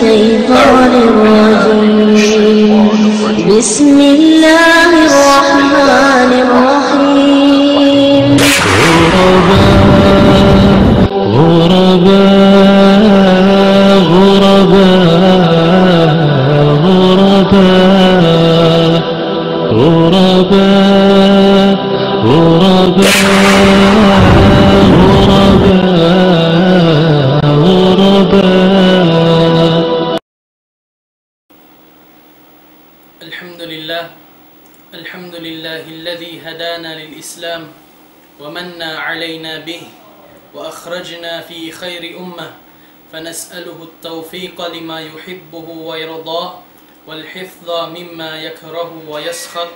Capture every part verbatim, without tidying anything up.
الشيطان الرجيم. بسم الله الرحمن الرحيم. غرباء، غرباء، غرباء، غرباء. غرباء، غرباء، غرباء، غرباء. الحمد لله. الحمد لله الذي هدانا للإسلام ومن علينا به وأخرجنا في خير أمة، فنسأله التوفيق لما يحبه ويرضاه والحفظ مما يكره ويسخط.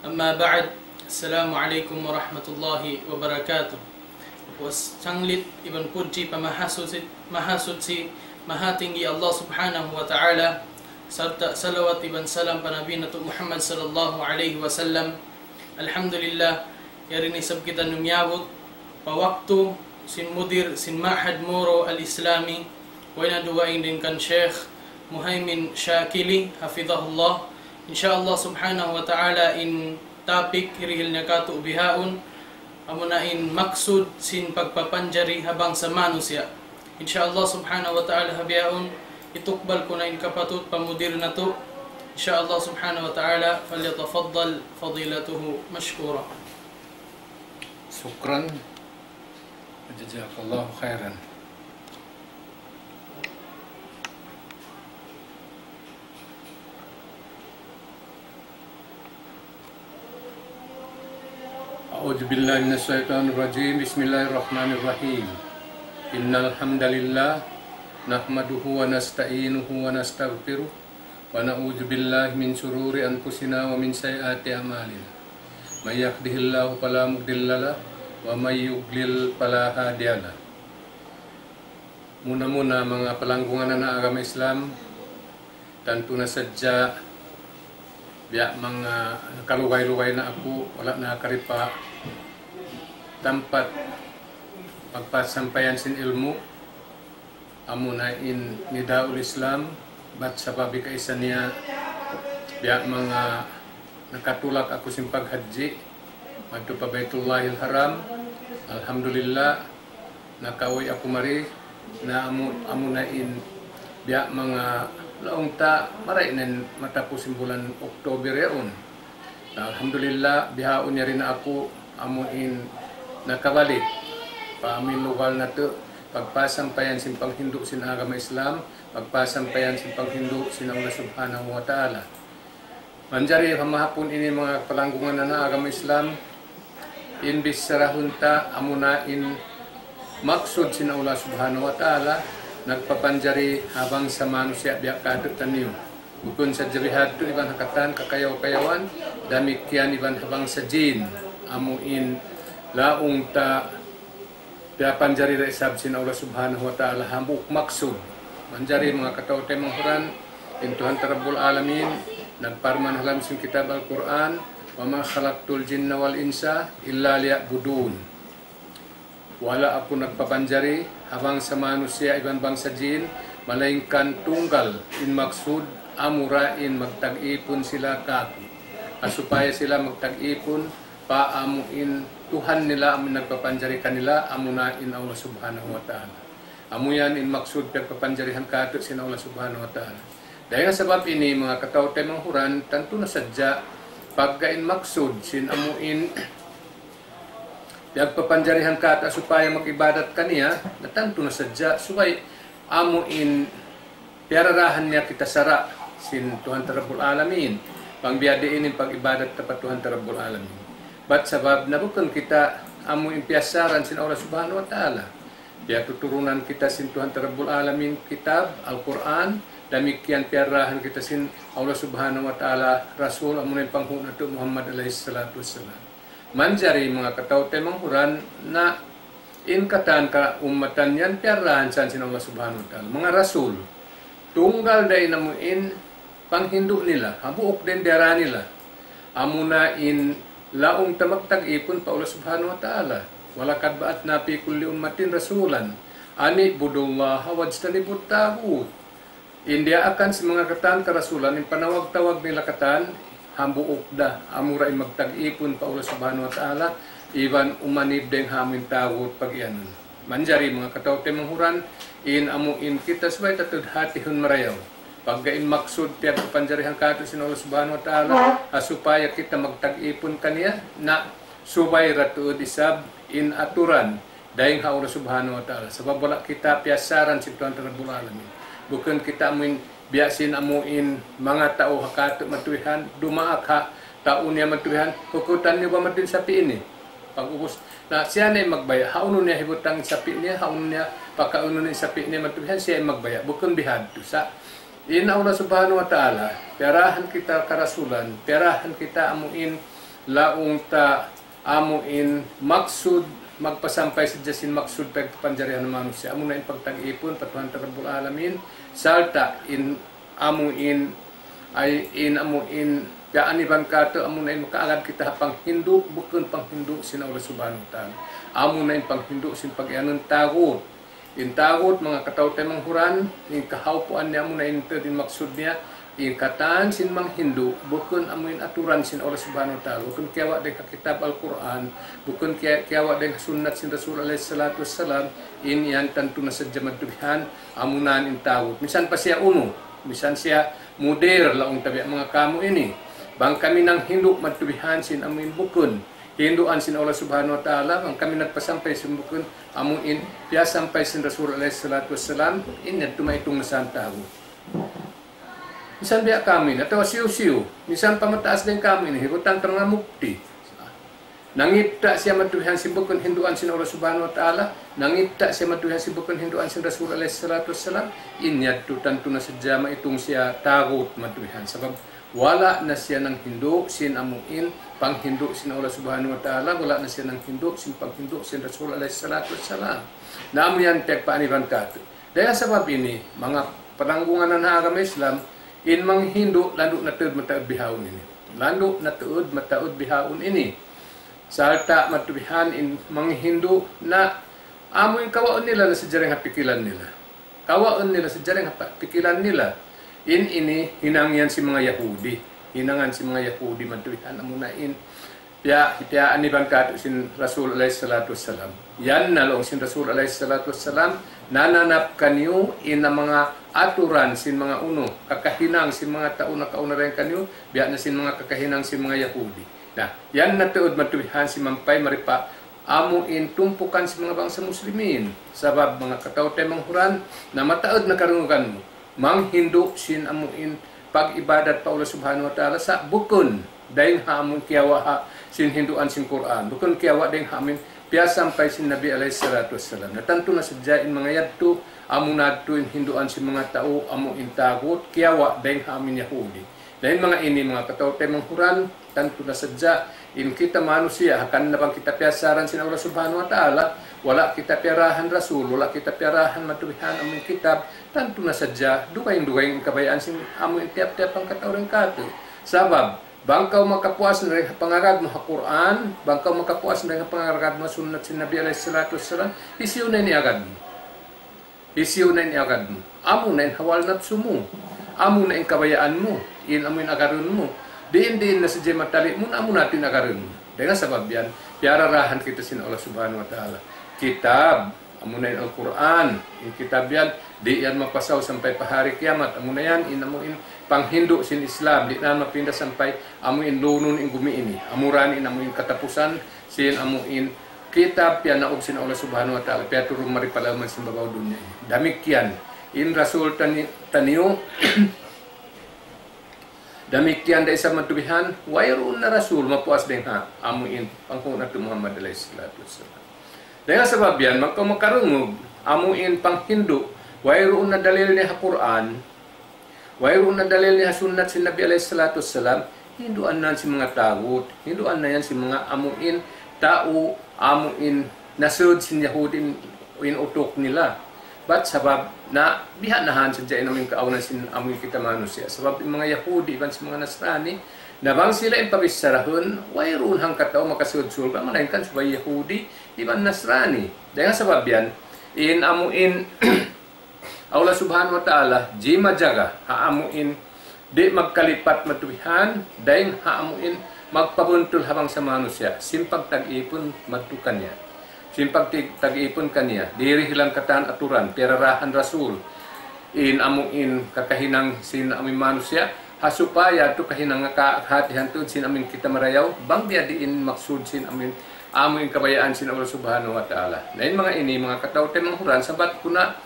أما بعد، السلام عليكم ورحمة الله وبركاته. Puas sanglit iban pudji pa Mahasuchi, Mahasuchi, Mahatinggi Allah Subhanahu wa Ta'ala, sarta' salawat iban salam pa Nabi natu' Muhammad sallallahu alayhi wasallam. Alhamdulillah, yari na isab kitaniyu miyabut pa waktu sin mudir sin Ma'had Moro Al-Islami, way na dugaing dayn kan Sheikh Muhaymin Shakili, hafidhahullah. Insha Allah Subhanahu wa Ta'ala, in topic hirihil niya kātu' bihaun, amuna in maksud sin pagpapanjari ha bangsa manusiya'. Insha Allah Subhanahu wa Ta'ala, ha bihaun, itukbal ku na in kapatut pa mudir natu'. Insha Allah Subhanahu wa Ta'ala, فليتفضل فضيلته مشكورا. شكرا. جزاك الله خيرا. أعوذ بالله من الشيطان الرجيم. بسم الله الرحمن الرحيم. إن الحمد لله نحمده ونستعينه ونستغفره ونعوذ بالله من شرور أنفسنا ومن سيئات أعمالنا. من يهده الله فلا مضل له ومن يضلل فلا هادي له. Muna-muna, manga palanggungan ha agama Islam, tantu na sadja biya' manga nakalugay-lugay na aku, wala' na karipa tampat pagpasampayan sin ilmu', amuna in Nidaul Islam, bat sabab kaisa niya biya' manga nakatulak aku sin paghajji madtu pa Baitullahil Haram. Alhamdulillah, nakauwi' aku mari, na amu, amuna in biya' manga laung ta marayaw na in matapus in bulan October yaun. Na alhamdulillah, bihaun yari na aku amu in nakabalik pa amu in lugal natu', pagpasampayan sin panghindu' sin agama Islam, pagpasampayan sin panghindu' sin Allah Subhanahu wa Ta'ala. Manjari ha mahapun ini, manga palanggungan ha agama Islam, in bicharahun ta amuna in maksud sin Allah Subhanahu wa Ta'ala nagpapanjari ha bangsa manusiya' biya' kātu'niyu. Bukun sadja bihadtu, iban ha katan kakayaw-kayawan, damikkiyan iban ha bangsa jin, amu in laung ta piyapanjari da isab sin Allah Subhanahu wa Ta'ala hambuuk maksud. Manjari, manga kataw-taymanghuran, in Tuhan ta Rabbul Alamin nagparman ha lawm sin kitab Al-Qur'an, وما خلقت الجن والإنس إلا ليعبدون. Wala' aku nagpapanjari ha bangsa manusiya' iban bangsa jin, malaingkan tunggal in maksud, amura in magtag-ipun sila kāku'. Ha supaya sila magtag-ipun pa amu in Tuhan nila, amu in nagpapanjari kanila, amuna in Allah Subhanahu wa Ta'ala. Amu yan in maksud pagpapanjarihan kātu' sin Allah Subhanahu wa Ta'ala. Dayn ha sabab ini, manga kataw-taymanghuran, tantu na sadja pagga in maksud sin amu in pagpapanjarihan kātu' supaya mag-ibadat kaniya, na tantu na sadja subay amu in piyararahan niya kita sara' sin Tuhan ta Rabbul Alamin. Bang biya' diin in pag-ibadat ta pa Tuhan ta Rabbul Alamin. Bat sabab na bukun kita amu in piyassaran sin Allah Subhanahu wa Ta'ala. Piyatuturunan kita sin Tuhan ta Rabbul Alamin kitab Al-Qur'an, damikkiyan piyararahan kita sin Allah Subhanahu wa Ta'ala Rasul, amuna in panghu' natu' Muhammad alayhis salatu wassalam. Manjari, manga kataw-taymanghuran, na in katan kaummatan yan piyararahan sin Allah Subhanahu wa Ta'ala, manga rasul. Tunggal da in amu in panghindu' nila, hambuuk da in diyara nila. Amuna in laung ta magtag-ipun pa Allah Subhanahu wa Ta'ala. ولقد بعثنا في كل أمة رسولا أن اعبدوا الله واجتنبوا الطاغوت. In diyaakan sin manga katan karasulan, in panawag-tawag nila katan, hambuuk da, amura in magtag-ipun pa Allah Subhanahu wa Ta'ala, iban umanib dayng ha amuin tagut pag-iyanun. Manjari manga kataw-taymanghuran, in amuin kita subay ta tuud hatihun marayaw. Pagga in maksud piyagkapanjarihan katu' sin Allah Subhanahu wa Ta'ala, ha supaya kita magtag-ipun kaniya, na subay ra tuud isab in aturan dayng ha Allah Subhanahu wa Ta'ala. Sabab wala' kita piyasaran sin Tuhan Rabbul Alamin. Bukun kita amuin biya' sin amuin manga tau ha katu' matuwihan, dumaak ha tau niya matuwihan, hukutan niyu ba matuwin sapi' ini? Pag-ubus, na siya na in magbaya', hawnu niya hibutang sapi' niya, hawnu niya pakaunun in sapi' niya matuwihan, siya in magbaya'. Bukun bihadtu. Sa' in Allah Subhanahu wa Ta'ala, piyarahan kita karasulan, piyarahan kita amuin laung ta amuin maksud, magpasampay sadja sin maksud pagpanjarihan manusiya'. Amuna in pagtag-ipun pa Tuhan Rabbul Alamin, sarta' in amuin, ay in amuin, kaaniban katu', amuna in makaagad kita ha panghindu', bukun panghindu' sin Allah Subhanahu wa Ta'ala. Amuna in panghindu' sin pag-iyanun tagut. In tagut, manga kataw-taymanghuran, in kahawpuan niya amuna in tuud in maksud niya, in katan sin manghindu', bukun amuin aturan sin Allah Subhanahu wa Ta'ala, bukun kiyawa' dayng ha kitab Al-Qur'an, bukun kiya-, kiyawa' dayng ha sunnat sin Rasul alayhi salatu wassalam, in yan tantu na sadja matuwihan, amuna in tagut. Misan pa siya unu, misan siya mudir, laung ta biya' manga kamu ini. Bang kami nanghindu' matuwihan sin amuin bukun hinduan sin Allah Subhanahu wa Ta'ala, bang kami nagpasampay sin bukun amuin piyasampay sin Rasul alayhi salatu wassalam, in yadtu maitung na sa tagut. Misan biya' kamu ini, atawa hisiyu-siyu, misan pa mataas dayng kamu ini, hibutang ta manga mufti. Nangita' siya matuwihan sin bukun hinduan sin Allah Subhanahu wa Ta'ala, nangita' siya matuwihan sin bukun hinduan sin Rasul alayhi salatu wassalam, in yadtu tantu na sadja maitung siya tagut matuwihan. Sabab wala' na siya nanghindu' sin amuin panghindu' sin Allah Subhanahu wa Ta'ala, wala' na siya nanghindu' sin panghindu' sin Rasul alayhi salatu wassalam. Na amu yan piyagpaaniban katu'. Dayn ha sabab ini, manga pananggungan ha agama Islam, in manghindu' landu' na tuud mataud bihaun ini. Landu' na tuud mataud bihaun ini. Sarta' matuwihan in manghindu' na amu in kawaun nila na sadja dayng ha pikilan nila. Kawaun nila sadja dayng ha pa-, pikilan nila. In ini hinang yan sin manga Yahudi. Hinangan sin manga Yahudi matuwihan amuna in piya-, piyaaniban katu' sin Rasul alayhi salatu wassalam. Yan na laung sin Rasul alayhi salatu wassalam, nananap kaniyu in manga aturan sin manga unu, kakahinang sin manga tau nakauna dayn kaniyu, biya' na sin manga kakahinang sin manga Yahudi. Na, yan na tuud matuwihan simampay mari pa amu in tumpukan sin manga bangsa Muslimin. Sabab manga kataw-taymanghuran, na mataud na karungugan mu manghindu' sin amu in pag-ibadat pa Allah Subhanahu wa Ta'ala, sa' bukun dayng ha amu in kiyawa' ha sin hinduan sin Qur'an, bukun kiyawa' dayng ha amu in piyasampay sin Nabi alayhi salatu wassalam. Na tantu na sadja in manga yadtu, amuna yadtu in hinduan sin manga tau amu in tagut, kiyawa' dayng ha amu in Yahudi. Na in manga ini, manga kataw-taymanghuran, tantu na sadja in kita manusiya', hangkan na bang kita piyasaran sin Allah Subhanahu wa Ta'ala, wala' kita piyarahan Rasul, wala' kita piyarahan matuwihan amu in kitab, tantu na sadja dugaing-dugaing in kabayaan sin amu in tiyap-tiyap hangkatau dayn katu'. Sabab bang kaw makapuas na dayn ha pangagad mu ha Qur'an, bang kaw makapuas na dayn ha pangagad mu ha sunnat sin Nabi alayhi salatu wassalam, hisiyu na in iagad mu? Hisiyu na in iagad mu? Amu na in hawal napsu mu. Amu na in kabayaan mu. In amu in agarun mu. Diin-diin na sadja matali' mu na amu na in agarun mu. Dayn ha sabab yan, piyararahan kita sin Allah Subhanahu wa Ta'ala. Kitab, amu na in Al-Qur'an. In kitab yan, di' yan mapasaw sampay pa hari kiyamat. Amu na yan, in amu in panghindu' sin Islam. Di' na mapinda sampay amu in lunun in gumi ini. Amura na in amu in katapusan sin amu in kitab piyanaug sin Allah Subhanahu wa Ta'ala, piyaturun mari pa lawm sin babaw dunya ini. Damikkiyan in Rasul tani-, taniyu, damikkiyan da isab matubihan, wayruun na Rasul mapuas dayn ha amu in panghu' natu' Muhammad alayhi salatu wassalam. Dayn ha sabab yan, bang kaw makarungug amu in panghindu', wayruun na dalil niya ha Qur'an, wayruun na dalil niya ha sunnat sin Nabi alayhi salatu wassalam, hinduan na yan sin manga tagut, hinduan na yan sin manga amu in tau, amu in nasud sin Yahudi in, in utuk nila. Bat sabab na biha'nahan sadja in amu in kaawnan sin amu in kita manusiya'. Sabab in manga Yahudi iban sin manga Nasrani, na bang sila in pabichara hun, wayruun hangkatau makasud surga', malaingkan subay Yahudi iban Nasrani. Dayn ha sabab yan, in amu in Allah Subhanahu wa Ta'ala, jimajaga, ha amuin, di' magkalipat madtu bihan, dayn ha amuin, magpabuntul ha bangsa manusiya', sin pagtag-ipun madtu kaniya. Sin pagtag-ipun kaniya, dirihilan katan aturan, piyararahan Rasul, in amuin kakahinang sin amuin manusiya', ha supaya tu kahinang ka-, kahatihan tuud sin amuin kita marayaw, bang biya' diin maksud sin amuin, amuin kabayaan sin Allah Subhanahu wa Ta'ala. Na in manga ini, manga kataw-taymanghuran, sabat ku na,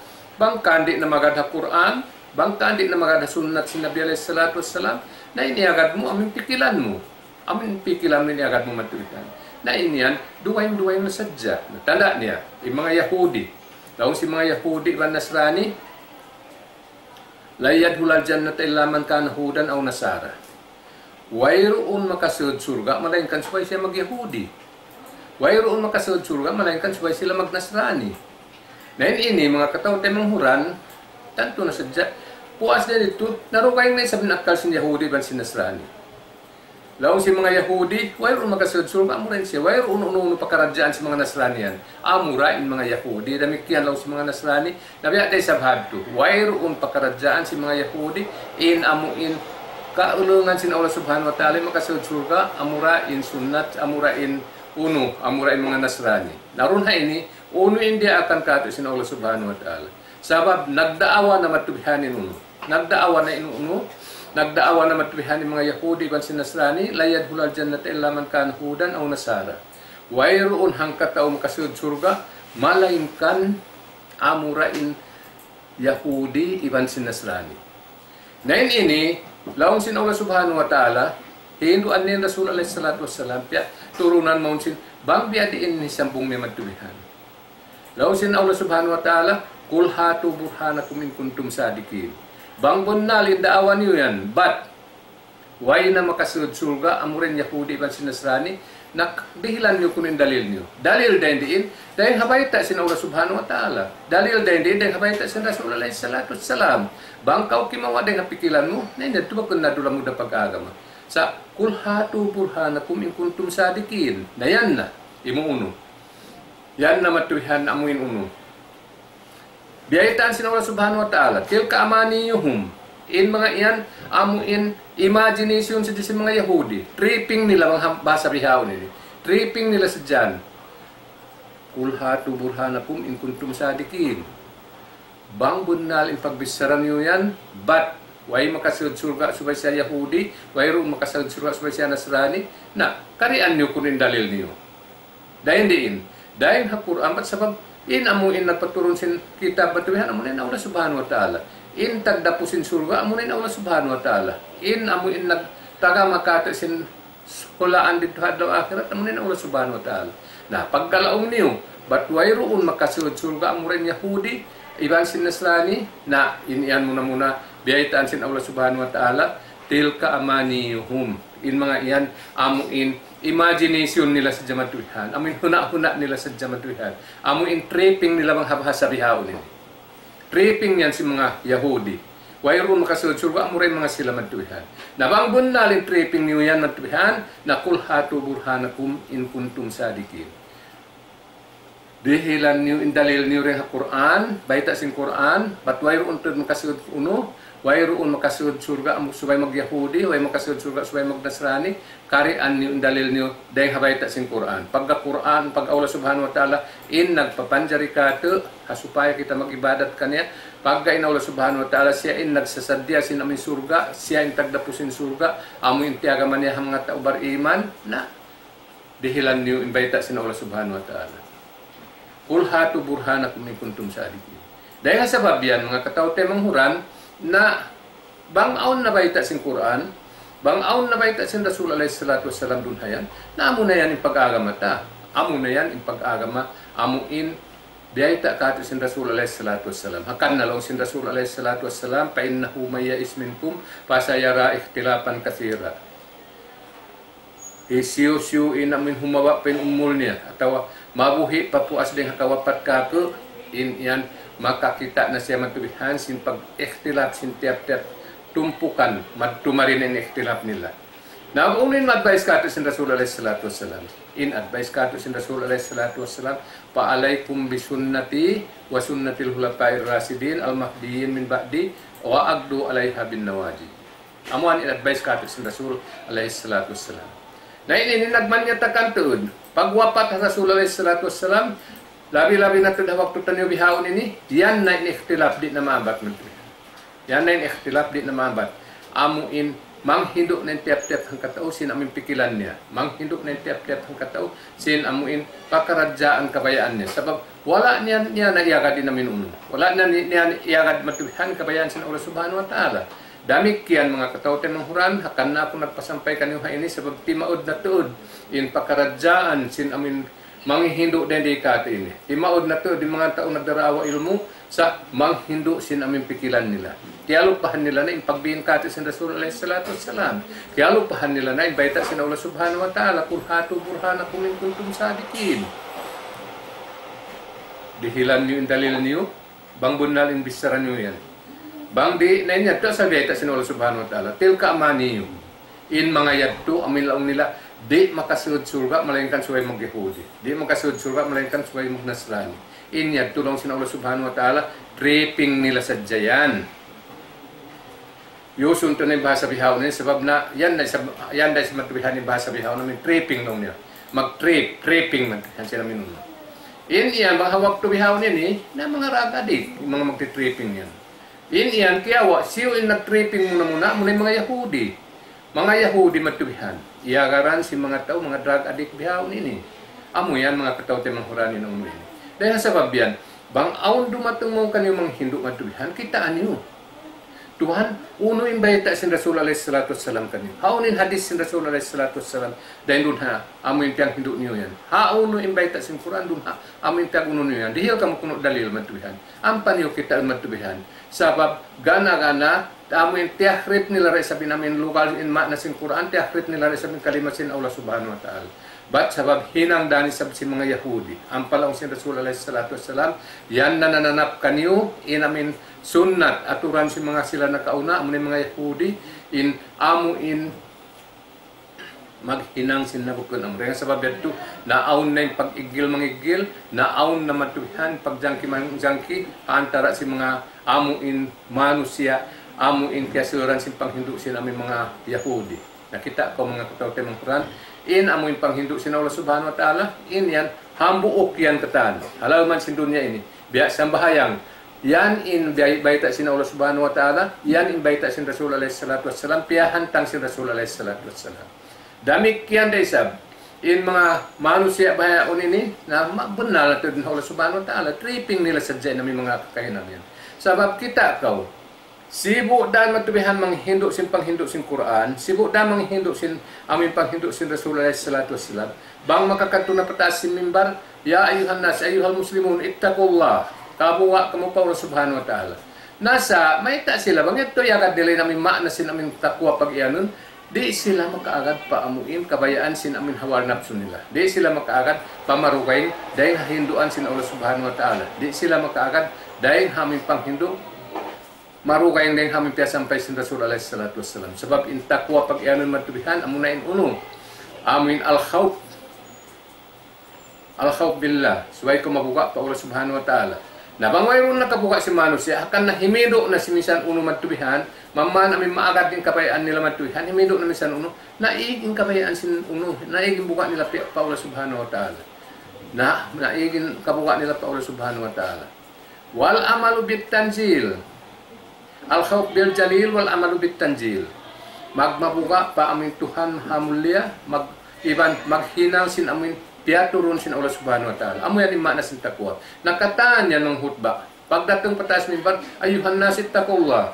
bang kan di' na magad ha Qur'an, bang kan di' na magad ha sunnat sin Nabi alayhi salatu wassalam, na in iyagad mu, amuin pikilan mu. Amuin pikilan mu in iyagad mu madtu bihan. Na in yan, dugaing-dugaing na sadja. Na tanda' niya, in manga Yahudi. Laung sin manga Yahudi iban Nasrani, لن يدخل الجنة إلا من كان هودا أو نصارى. Wayruun makasud surga', malaingkan subay siya mag-Yahudi. Wayruun makasud surga', malaingkan subay sila mag-Nasrani. Na in ini, manga kataw-taymanghuran, tantu na sadja. Puas da ditu, narugaing na isab in akkal sin Yahudi iban sin Nasrani. Laung sin manga Yahudi, wayruun makasud surga', amura in siya, wayruun unu-unu pakaradjaan sin manga Nasrani yan. Amura in manga Yahudi, damikkiyan laung sin manga Nasrani, na biya' da isab hadtu. Wayruun pakaradjaan sin manga Yahudi, in amuin kaulungan sin Allah Subhanahu wa Ta'ala, makasud surga', amura in sunnat, amura in unu, amura in manga Nasrani. Na duun ha ini, unu in diyaakan katu' sin Allah Subhanahu wa Ta'ala. Sabab nagdaawa na madtu bihan in unu. Nagdaawa na in unu. Nagdaawa na madtu bihan in manga Yahudi iban sin Nasrani, لن يدخل الجنة إلا من كان هودا أو نصارى. Wayruun hangkatau makasud surga', malaingkan amura in Yahudi iban sin Nasrani. Na in ini, laung sin Allah Subhanahu wa Ta'ala, hinduan niya in Rasul alayhi salatu wassalam, piyaturunan mawn sin, bang biya' diin in sambung niya madtu bihan. Laung sin Allah Subhanahu wa Ta'ala, قل هاتوا برهانكم إن كنتم صادقين. Bang bunnal in daawa niyu yan, bat way na makasud surga', amura in Yahudi iban sin Nasrani, na dihilan niyu kunu' in dalil niyu. Dalil dayn diin, dayn ha bayta' sin Allah Subhanahu wa Ta'ala. Dalil dayn diin, dayn ha bayta' sin Rasul alayhi salatu wassalam. Bang kaw kimawa' dayn ha pikilan mu, na in yadtu ba kunu' na duun mu da pag-agama. Sa', قل هاتوا برهانكم إن كنتم صادقين. Na yan na, imu unu. Yan na madtu bihan amuin unu. Biyaytaan sin Allah Subhanahu wa Ta'ala, تلك أمانيهم. In manga yan, amuin imagination sadja sin manga Yahudi. Tripping nila, manga ham-, bahasa bihaun ini. Tripping nila sadja yan. قل هاتوا برهانكم إن كنتم صادقين. Bang bunnal in pagbichara niyu yan, bat way makasud surga' subay siya Yahudi, wayruun makasud surga' subay siya Nasrani, na, karian niyu kunu' in dalil niyu. Dayn diin, dayn ha Qur'an, bat sabab in amu in nagpaturun sin kitab madtu bihan, amu na in Allah Subhanahu wa Ta'ala. In tagdapu sin surga', amu na in Allah Subhanahu wa Ta'ala. In amu in nagtagama katu' sin hulaan didtu ha adlaw akhirat, amu na in Allah Subhanahu wa Ta'ala. Na, pagkalaung niyu, bat wayruun makasud surga' amura in Yahudi, iban sin Nasrani, na, in yan muna-muna, biyaytaan sin Allah Subhanahu wa Ta'ala, تلك أمانيهم. In manga yan, amu in imagination nila sadja madtu bihan. Amu in huna'-huna' nila sadja madtu bihan. Amu in tripping nila bang ha bahasa bihaun ini. Tripping yan sin manga Yahudi. Wayruun makasud surga', amura in manga sila madtu bihan. Na bang bunnal in tripping niyu yan madtu bihan, na قل هاتوا برهانكم إن كنتم صادقين. Dihilan niyu in dalil niyu dayn ha Qur'an, bayta' sin Qur'an, bat wayruun tuud makasud unu, wayruun makasud surga' amu subay mag-Yahudi, way makasud surga' subay mag-Nasrani, karian niyu in dalil niyu dayn ha bayta' sin Qur'an. Pagga Qur'an, pagga Allah Subhanahu wa Ta'ala, in nagpapanjari katu', ha supaya kita mag-ibadat kaniya, pagga in Allah Subhanahu wa Ta'ala, siya in nagsasaddiya sin amu in surga', siya in tagdapu sin surga', amu in tiyagama niya ha manga tau bariman, na, dihilan niyu in bayta' sin Allah Subhanahu wa Ta'ala. قل هاتوا برهانكم إن كنتم صادقين. Dayn ha sabab yan, manga kataw-taymanghuran, na bang awn na bayta' sin Qur'an, bang awn na bayta' sin Rasul alayhi salatu wassalam duun ha yan, na amu na yan in pag-agama ta. Amu na yan in pag-agama, amu in biyayta' katu' sin Rasul alayhi salatu wassalam. Hangkan na laung sin Rasul alayhi salatu wassalam, فإنه من يعش منكم فسيرى اختلافا كثيرا. Hisiyu-siyu in amuin humawa' pa in umul niya, atawa mabuhi' pa puas dayn ha kawapat katu', in yan makakita' na siya madtu bihan sin pag-ikhtilaf sin tiyap-tiyap tumpukan, madtu mari na in ikhtilaf nila. Na, unu in advice katu' sin Rasul alayhi salatu wassalam? In advice katu' sin Rasul alayhi salatu wassalam, فعليكم بسنتي وسنة الخلفاء الراشدين المهديين من بعدي وعضوا عليها بالنواجذ. Amu yan in advice kātu' sin Rasul alayhi salatu wassalam. Na ini, ini nagmanyatakan tuud. Pagwapat ha Rasul alayhi salatu wassalam, labi-labi na tuud ha waktu taniyu bihaun ini, yan na in ikhtilaf di' na maabat man tuud. Yan na in ikhtilaf di' na maabat. Amu in manghindu' na in tiyap-tiyap hangkatau sin amu in pikilan niya. Manghindu' na in tiyap-tiyap hangkatau sin amu in pakaradjaan kabayaan niya. Sabab wala' niya, niya na iyagad in amu in unu. Wala' niya, niya iyagad matubihan kabayaan sin Allah Subhanahu wa Ta'ala. Damikkiyan manga kataw-taymanghuran, hangkan na aku nagpasampay kaniyu ha ini sabab timaud na tuud in pakaradjaan sin amu in manghihindu' dayn di kātu' ini. Timaud na tuud in manga tau nagdaraawa ilmu' sa' manghindu' sin amu in pikilan nila. Kiyalupahan nila na in pagbiin kātu' sin Rasul alayhi salatu wassalam. Kiyalupahan nila na in bayta' sin Allah Subhanahu wa Ta'ala, قل هاتوا برهانكم إن كنتم صادقين. Dihilan niyu in dalil niyu, bang bunnal in bichara niyu yan. Bang di', na in yadtu asal bayta' sin Allah Subhanahu wa Ta'ala. تلك أمانيهم. In manga yadtu, amu in laung nila, di' makasud surga' malaingkan subay mag-Yahudi. Di' makasud surga' malaingkan subay mag-Nasrani. In yadtu laung sin Allah Subhanahu wa Ta'ala, tripping nila sadja yan. Yusun tuud na in bahasa bihaun ini, sabab na, yan na isab, yan na isab matubihan in bahasa bihaun, amu in tripping laung nila. Mag-trip, tripping na, yan sila minun. In yan, bang ha waktu bihaun ini, na manga drug addict, in manga magti-tripping yan. In yan, kiyawa', siyu in nag-tripping muna-muna, amuna in manga Yahudi. Manga Yahudi matubihan. Iyagaran sin manga tau, manga drug addict bihaun ini. Amu yan, manga kataw-taymanghuran, in unu ini. Dayn ha sabab yan, bang awn dumatung mawn kaniyu manghindu' matubihan, kitaa niyu. Tuhan, unu in bayta' sin Rasul alayhi salatu wassalam kaniyu? Hawnu in hadith sin Rasul alayhi salatu wassalam? Dayn duun ha, amu in piyanghindu' niyu yan. Hawnu in bayta' sin Qur'an duun ha, amu in piyag-unu niyu yan. Dihil kamu kunu' dalil matubihan. Ampa niyu kitaa matubihan. Sabab gana-gana, amu in tiyahrif nila da isab in amu in lugal in ma'na sin Qur'an, tiyahrif nila da isab in kalima sin Allah Subhanahu wa Ta'ala. Bat sabab hinang da isab sin manga Yahudi. Ampa laung sin Rasul alayhi salatu wassalam, yan na nananap kaniyu, in amu in sunnat, aturan sin manga sila nakauna, amu in manga Yahudi, in amu in maghinang sin nabukun amu. Dayn ha sabab yadtu, naawn na in pag-iggil-mangiggil, naawn na matubihan, pagjangki-mangjangki, antara sin manga amu in manusiya', amu in kiyasuran sin panghindu' sin amu in manga Yahudi. Nakita' kaw manga kataw-taymanghuran, in amu in panghindu' sin Allah Subhanahu wa Ta'ala, in yan, hambuuk yan katan. Halal man sin dunya ini. Biya' sambahayang. Yan in bay-, bayta' sin Allah Subhanahu wa Ta'ala, yan in bayta' sin Rasul alayhi salatu wassalam, piyahantang sin Rasul alayhi salatu wassalam. Damikkiyan da isab, in manga manusiya' bahaun ini, na ma-, bunnal na tuud in Allah Subhanahu wa Ta'ala, tripping nila sadja in amu in manga kakahinang yan. Sabab kitaa kaw, sibu' da matubihan manghindu' sin panghindu' sin Qur'an, sibu' da manghindu' sin amu in panghindu' sin Rasul alayhi salatu wassalam. Bang makakadtu na pa taas sin mimbar, يا أيها الناس، أيها المسلمون، اتقوا الله. Kabuga' kamu pa Allah Subhanahu wa Ta'ala. Na sa', mayta' sila, bang yadtu iyagad nila in amu in ma'na sin amu in taqwa pag-iyanun, di' sila makaagad pa amu in kabayaan sin amu in hawa napsu nila. Di' sila makaagad pa marugaing dayn ha hinduan sin Allah Subhanahu wa Ta'ala. Di' sila makaagad dayn ha amu in panghindu' marugaing dayn ha amu in piyasampay sin Rasul alayhi salatu wassalam. Sabab in taqwa pag-iyanun matubihan, amuna in unu. Amu in al-khawf. Al-khawf billah. Subay kaw mabuga' pa Allah Subhanahu wa Ta'ala. Na bang wayruun na kabuga' sin manusiya', hangkan na himidu' na sin misan unu matubihan, mamman amu in maagad in kabayaan nila matubihan, himidu' na misan unu, naig in kabayaan sin unu, naig in buga' nila pi-, pa Allah Subhanahu wa Ta'ala. Na, naig in kabuga' nila pa Allah Subhanahu wa Ta'ala. والعمل بالتنزيل. الخوف بالجليل والعمل بالتنزيل. Magmabuga' pa amu in Tuhan Maha Mulia, mag-, iban maghinang sin amu in piyaturun sin Allah Subhanahu wa Ta'ala. Amu yan in ma'na sin taqwa. Na katan yan manga khutba. Pagdatung pa taas mimbar, أيها الناس اتقوا الله.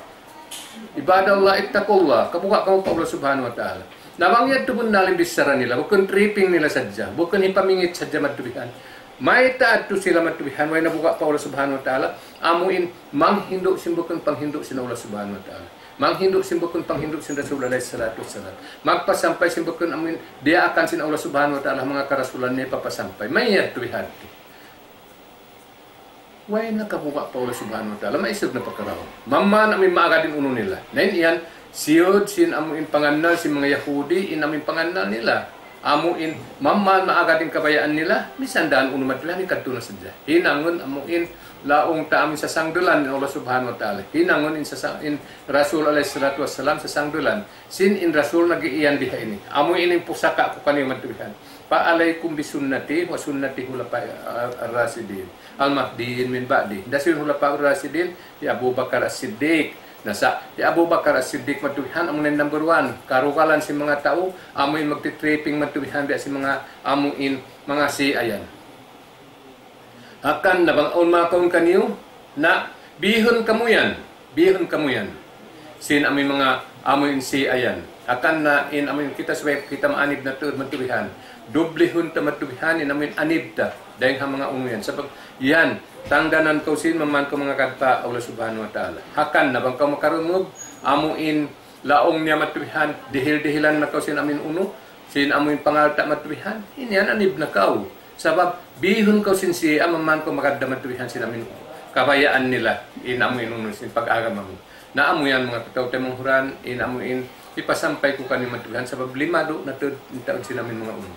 عباد الله اتقوا الله. Kabuga' kamu pa Allah Subhanahu wa Ta'ala. Na bang yadtu bunnal in bichara nila, bukun tripping nila sadja, bukun hipamingit sadja matubihan. Mayta' adtu sila matubihan, way nabuga' pa Allah Subhanahu wa Ta'ala, amu in manghindu' sin bukun panghindu' sin Allah Subhanahu wa Ta'ala. Manghindu' sin bukun panghindu' sin Rasul alayhi salatu wassalam. Magpasampay sin bukun amu in diyaakan sin Allah Subhanahu wa Ta'ala, manga karasulan niya papasampay. Mayta' adtu bihadtu. Way na kabuga' pa Allah Subhanahu wa Ta'ala, maisug na pa karaun. Mamman amu in maagad in unu nila. Na in yan, siyud sin amu in pangannal sin manga Yahudi, in amu in pangannal nila. Amu in mammal maagad in kabayaan nila, misan da unu madtu yan, in kadtu na sadja. Hinangun amu in laung ta amu in sasangdulan in Allah Subhanahu wa Ta'ala. Hinangun in sasa-, in Rasul alayhi salatu wassalam sasangdulan. Sin in Rasul nag-iiyan biha ini. Amu ini in pusaka ku kaniyu madtu bihan. فعليكم بسنتي وسنة الخلفاء الراشدين المهديين من بعدي. Hisiyu in Khulafa ar-Rashidin? Hi Abu Bakar As-Siddiq. Na sa, hi Abu Bakar As-Siddiq madtu bihan, amu na in number one. Karugalan sin manga tau, amu in magti-tripping madtu bihan, biya' sin manga, amu in, manga Shia yan. Hangkan na bang awn makaun kaniyu, na bihun kamu yan, bihun kamu yan. Sin amu in manga, amu in Shia yan. Hangkan na in amu in kita subay kita maanib na tuud madtu bihan. Dublihun ta madtu bihan, in amu in anib ta. Dayng ha manga unu yan. Sabab yan, tangganan kaw sin mamman kaw mangagad pa Allah Subhanahu wa Ta'ala. Hangkan na bang kaw makarungug, amu in laung niya madtu bihan, dihil-dihilan na kaw sin amu in unu, sin amu in pangalta' madtu bihan, in yan anib na kaw. Sabab, bihun kaw sin Shia, mamman kaw magad da madtu bihan sin amu in unu. Kabayaan nila, in amu in unu, sin pag-agama mu. Na amu yan manga kataw-taymanghuran, in amu in, hipasampay ku kaniyu madtu bihan, sabab lima du na tuud in taud sin amu in manga unu.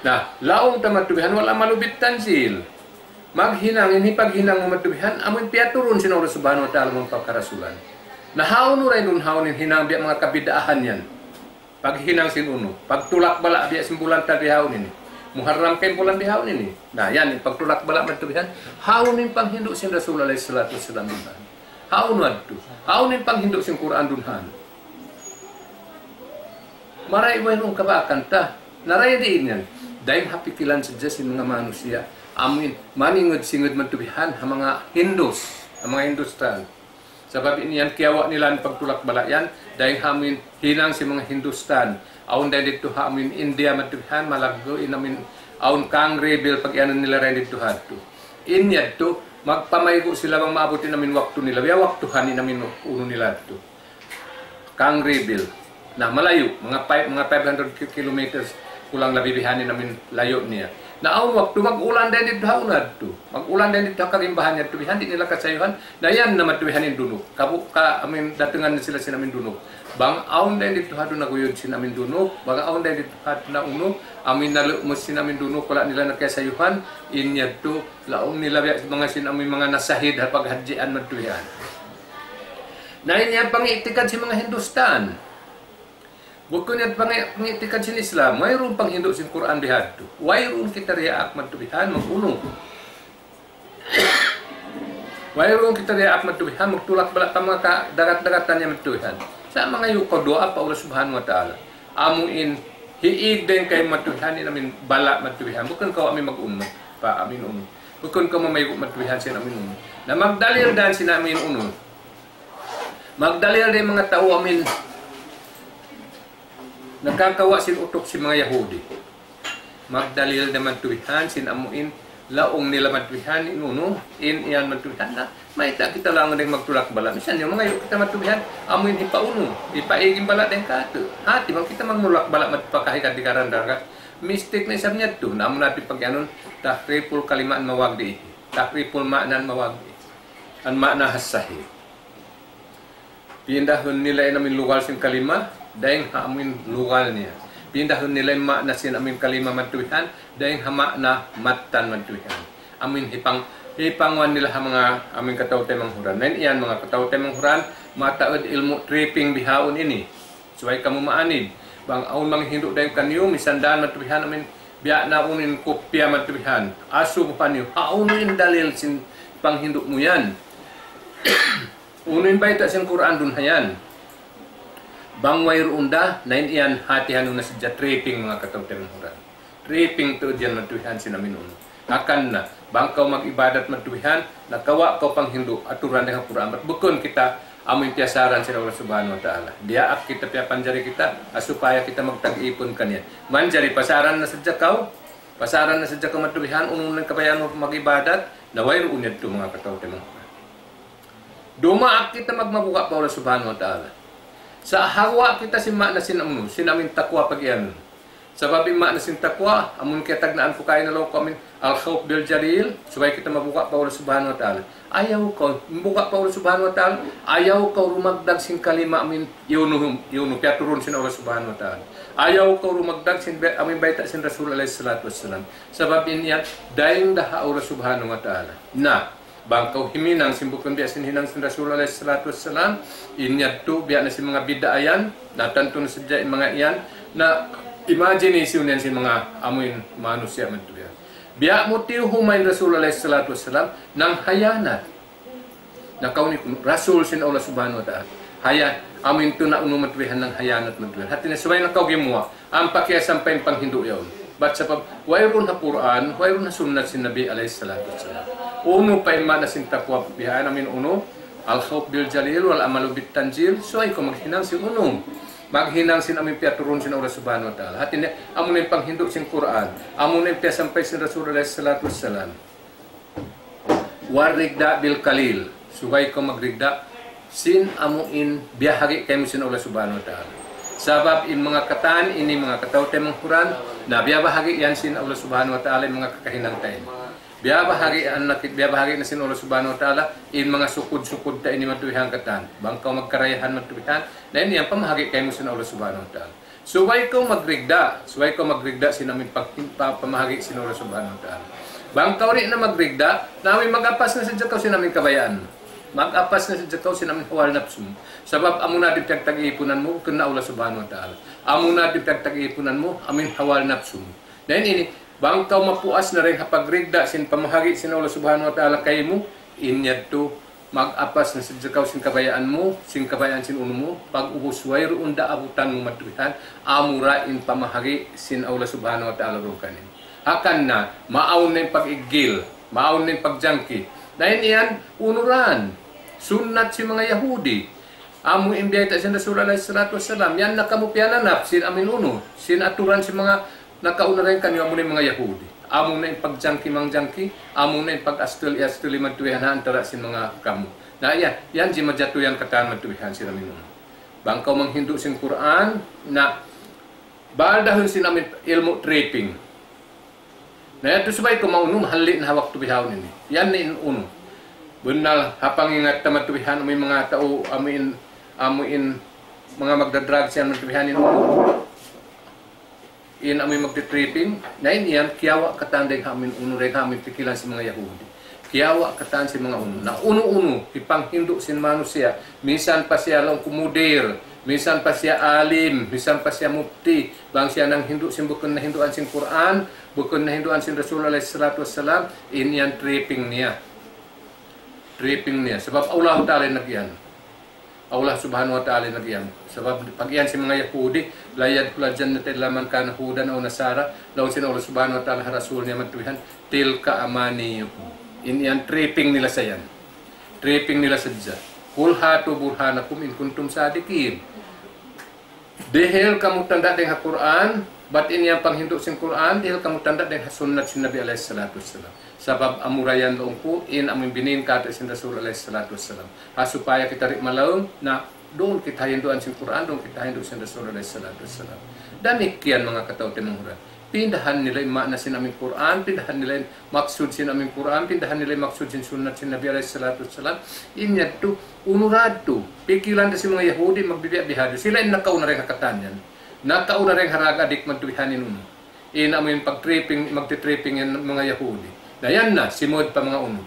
Na, laung ta madtu bihan, wala' malubit tanzil. Maghinang in hipaghinang mu madtu bihan, amu in piyaturun sin Allah Subhanahu wa Ta'ala manga pagkarasulan. Na hawnu ra in unu, hawnu in hinang biya' manga kabid'ahan yan. Paghinang sin unu, pagtulak bala' biya' sin bulan ta bihaun ini. Muharram kay bulan bihaun ini. Na, yan, in pagtulak bala' madtu bihan, hawnu in panghindu' sin Rasul alayhi salatu wassalam bihan. Hawnu adtu. Hawnu in panghindu' sin Qur'an dunhan. Maray wayruun kabakan ta. Na dayn diin yan. Dayng ha pikilan sadja sin manga manusiya'. Amu in maningud-singud madtu bihan ha manga Hindus, ha manga Hindustan. Sabab in yan kiyawa' nila in pagtulak bala' yan, dayng ha amu in hinang sin manga Hindustan. Awn dayn didtu ha amu in India madtu bihan, malaggu' in amu in awn Kangri Bill pag-iyanun nila dayn didtu ha adtu. In yadtu, magpamaygu' sila bang maabut in amu in waktu nila. Biya' waktuhan in amu in unu nila adtu. Kangri Bill. Na, malayu', manga five, manga five hundred ki-, kilometers, kulang labi bihan in amu in layu' niya. Na, awn waktu mag-ulan dayn didtu ha unu adtu. Mag-ulan dayn didtu ha kalimbahan yadtu bihan, di' nila kasayuhan. Na, yan na madtu bihan in dunuk. Kabu-, ka, amu in datungan na sila sin amu in dunuk. Bang awn dayn didtu ha adtu naguyud sin amu in dunuk. Bang awn dayn didtu ha adtu na unu, amu in nalumus sin amu in dunuk, wala' nila na kiyasayuhan. In yadtu, laung nila biya' manga sin amu in manga nasahid ha paghadjian madtu bihan. Na in yan pangi'tikad sin manga Hindustan. Bukun yan pangi-, pangi'tikad sin Islam. Wayruun panghindu' sin Qur'an bihadtu. Wayruun kita diyaak madtu bihan mag-unu. Wayruun kita diyaak madtu bihan magtulak bala' pa manga kadagat-dagatan niya madtu bihan. Sa' mangayu' kaw duwaa pa Allah Subhanahu wa Ta'ala. Amu in hiig dayn kaymu madtu bihan in amu in bala' madtu bihan. Bukun kaw amu in mag-unu pa amu in unu. Bukun kaw mamaygu' madtu bihan sin amu in unu. Na magdalil da in sin amu in unu. Magdalil da in manga tau amu in nakakawa' sin utuk sin manga Yahudi. Magdalil da madtu bihan sin amu in laung nila madtu bihan in unu, in yan madtu bihan na. Mayta' kita laung dayn magtulak bala'. Misan yan mangayu' kita madtu bihan, amu in hipaunu, hipaig in bala' dayn kātu'. Hati bang kita magtulak bala' madtu pa kahigad di karan dagat. Mistake na isab niya tu. Na amu na pi pag-anun, tahriful kalima an mawagdi'. Tahriful ma'na an mawagdi'. An ma'na has sahih. Pindahun nila in amu in lugal sin kalima, dayng ha amu in lugal niya. Pindahun nila in ma'na sin amu in kalima madtu bihan, dayng ha ma'na mattan madtu bihan. Amu in hipang-, hipanguwan nila ha manga amu in kataw-taymanghuran. Na in yan manga kataw-taymanghuran, mataud ilmu' tripping bihaun ini. Subay kamu maanib. Bang awn manghindu' dayng kaniyu, misan dan madtu bihan amu in, biya' na unu in kupya madtu bihan. Asubuhan niyu, hawnu in dalil sin panghindu' mu yan. Unu in bayta' sin Qur'an duun ha yan? Bang wayruun da, na in yan hatihan niyu na sadja tripping manga kataw-taymanghuran. Tripping tuud yan madtu bihan sin amu in unu. Hangkan na, bang kaw mag-ibadat madtu bihan, nakawa' kaw panghindu', aturan dayn ha Qur'an. Bat bukun kita, amu in piyasaran sin Allah Subhanahu wa Ta'ala. Diyaak kita piyapanjari kita, ha supaya kita magtag-ipun kaniya. Manjari pasaran na sadja kaw, pasaran na sadja kaw madtu bihan, unu in kabayaan mu mag-ibadat, na wayruun yadtu manga kataw-taymanghuran. Dumaak kita magmabuga' pa Allah Subhanahu wa Ta'ala. Sa' hawa' kita sin ma'na sin amu, sin amu in takwa pag-iyanun. Sabab in maana sin taqwa, amun kiyatagnaan ku kaina laung ku amin, al-khawf bil jalil, subay kita mabuga' pa Allah Subhanahu wa Ta'ala. Ayaw kaw, mabuga' pa Allah Subhanahu wa Ta'ala, ayaw kaw rumagdag sin kalima amin, iyunu, iyunu, piyaturun sin Allah Subhanahu wa Ta'ala. Ayaw kaw rumagdag sin be-, amin bayta' sin Rasul alayhi salatu wassalam. Sabab in yan, dayn da ha Allah Subhanahu wa Ta'ala. Na, bang kaw himinang sin bukun biya' sin hinang sin Rasul alayhi salatu wassalam, in yadtu biya' na sin manga bid'a yan, na tantu na sadja in manga yan, na imagination yan sin manga amuin manusiya' madtu yan. Biya' mu tiyuhuma in Rasul alayhi salatu wassalam, nanghayanat. Na kaw ini kunu' Rasul sin Allah Subhanahu wa Ta'ala. Haya, amuin tuna' unu madtu yan nanghayanat madtu yan. Hati niya subay na kaw gimuwa'. Ampa kiyasampay in panghindu' yaun. Bat sabab, wayruun ha Qur'an, wayruun ha sunnat sin Nabi alayhi salatu wassalam. Unu pa in maana sin taqwa bihan amin unu, al-khawf bil jalil wal amalu bit tanzil, subay kaw maghinang sin unu. Maghinang sin amin piyaturun sin Allah Subhanahu wa Ta'ala. Hati niya, amu na in panghindu' sin Qur'an, amu na in piyasampay sin Rasul alayhi salatu wassalam. War rida bil qalil. Subay kaw magrida sin amuin biyahagi' kaymu sin Allah Subhanahu wa Ta'ala. Sabab in manga katan ini manga kataw-taymanghuran, na biyabahagi' yan sin Allah Subhanahu wa Ta'ala in manga kakahinang ta ini. Biyabahagi' an nakit, biyabahagi' na sin Allah Subhanahu wa Ta'ala in manga sukud-sukud ta ini madtu bihan katan. Bang kaw magkarayahan madtu bihan, na in yan pamahagi' kaymu sin Allah Subhanahu wa Ta'ala. Subay kaw magrida, subay kaw magrida sin amin pag-, pa-, pamahagi' sin Allah Subhanahu wa Ta'ala. Bang kaw di' na magrida, na amin mag-apas na sadja kaw sin amin kabayaan. Mag-apas na sadja kaw sin amin hawal napsu mu. Sabab amu na di' piyagtag-iipunan mu, kena Allah Subhanahu wa Ta'ala. Amu na di' piyagtag-iipunan mu, amin hawal napsu mu. Na in ini, bang kaw mapuas na dayn ha pagrida sin pamahagi' sin Allah Subhanahu wa Ta'ala kaymu, in yadtu, mag-apas na sadja kaw sin kabayaan mu, sin kabayaan sin unu mu, pag-ubus wayruun da abutan mu madtu bihan, amura in pamahagi' sin Allah Subhanahu wa Ta'ala duun kaniyu. Hangkan na, maawn na in pag-iggil, maawn na in pagjangki. Na in yan, unuran, sunnat sin manga Yahudi. Amu in biyayta' sin Rasul alayhi salatu wassalam, yan na kamu piyananap sin amin unu, sin aturan sin manga nakauna dayn kaniyu amu na in manga Yahudi. Amu na in pagjangki-mangjangki, amu na in pag-astul-astul madtu bihan ha antara' sin manga kamu. Na yan, yan jimajatu yan katan madtu bihan sin amin unu. Bang kaw manghindu' sin Qur'an, na baldahun sin amin ilmu' tripping. Na yadtu subay kaw maunu, mahalli' na ha waktu bihaun ini. Yan na in unu. Bunnal, ha pangingat ta madtu bihan, amu in manga tau, amu in, amu in manga magda-drugs yan madtu bihan in unu. In amu in magti-tripping, na in yan, kiyawa' katan dayn ha amu in unu, dayn ha amu in pikilan sin manga Yahudi. Kiyawa' katan sin manga unu. Na unu-unu, hipanghindu' sin manusiya', minsan pa siya laung ku mudir, minsan pa siya alim, minsan pa siya mufti, bang siya nanghindu' sin bukun na hinduan sin Qur'an, bukun na hinduan sin Rasul alayhi salatu wassalam, in yan tripping niya. Tripping niya. Sabab Allah Ta'ala in nag-iyan. Allah Subhanahu wa Ta'ala in nag-iyan. Sabab pag-iyan sin manga Yahudi, لا يدخل الجنة إلا من كان هودا أو نصارى, laung sin Allah Subhanahu wa Ta'ala ha Rasul niya madtu bihan, تلك أمانيهم. In yan tripping nila sa yan. Tripping nila sadja. قل هاتوا برهانكم إن كنتم صادقين. Dihil kamu tanda' dayn ha Qur'an, bat in yan panghindu' sin Qur'an, dihil kamu tanda' dayn ha sunnat sin Nabi alayhi salatu wassalam. Sabab amura yan laung ku, in amu in binin katu' sin Rasul alayhi salatu wassalam. Ha supaya kita di' malaung, na duun kita hinduan sin Qur'an, duun kita hindu' sin Rasul alayhi salatu wassalam. Damikkiyan manga kataw-taymanghuran. Pindahan nila in maana sin amu in Qur'an, pindahan nila in maksud sin amu in Qur'an, pindahan nila in maksud sin sunnat sin Nabi alayhi salatu wassalam. In yadtu, unu ra yadtu, pikilan da sin manga Yahudi, magbibiya' bihadtu. Sila in nakauna dayn ha katan yan. Nakauna dayn ha drug addict madtu bihan in unu. In amu in pag-tripping, magti-tripping yan manga Yahudi. Na yan na, simud pa manga unu.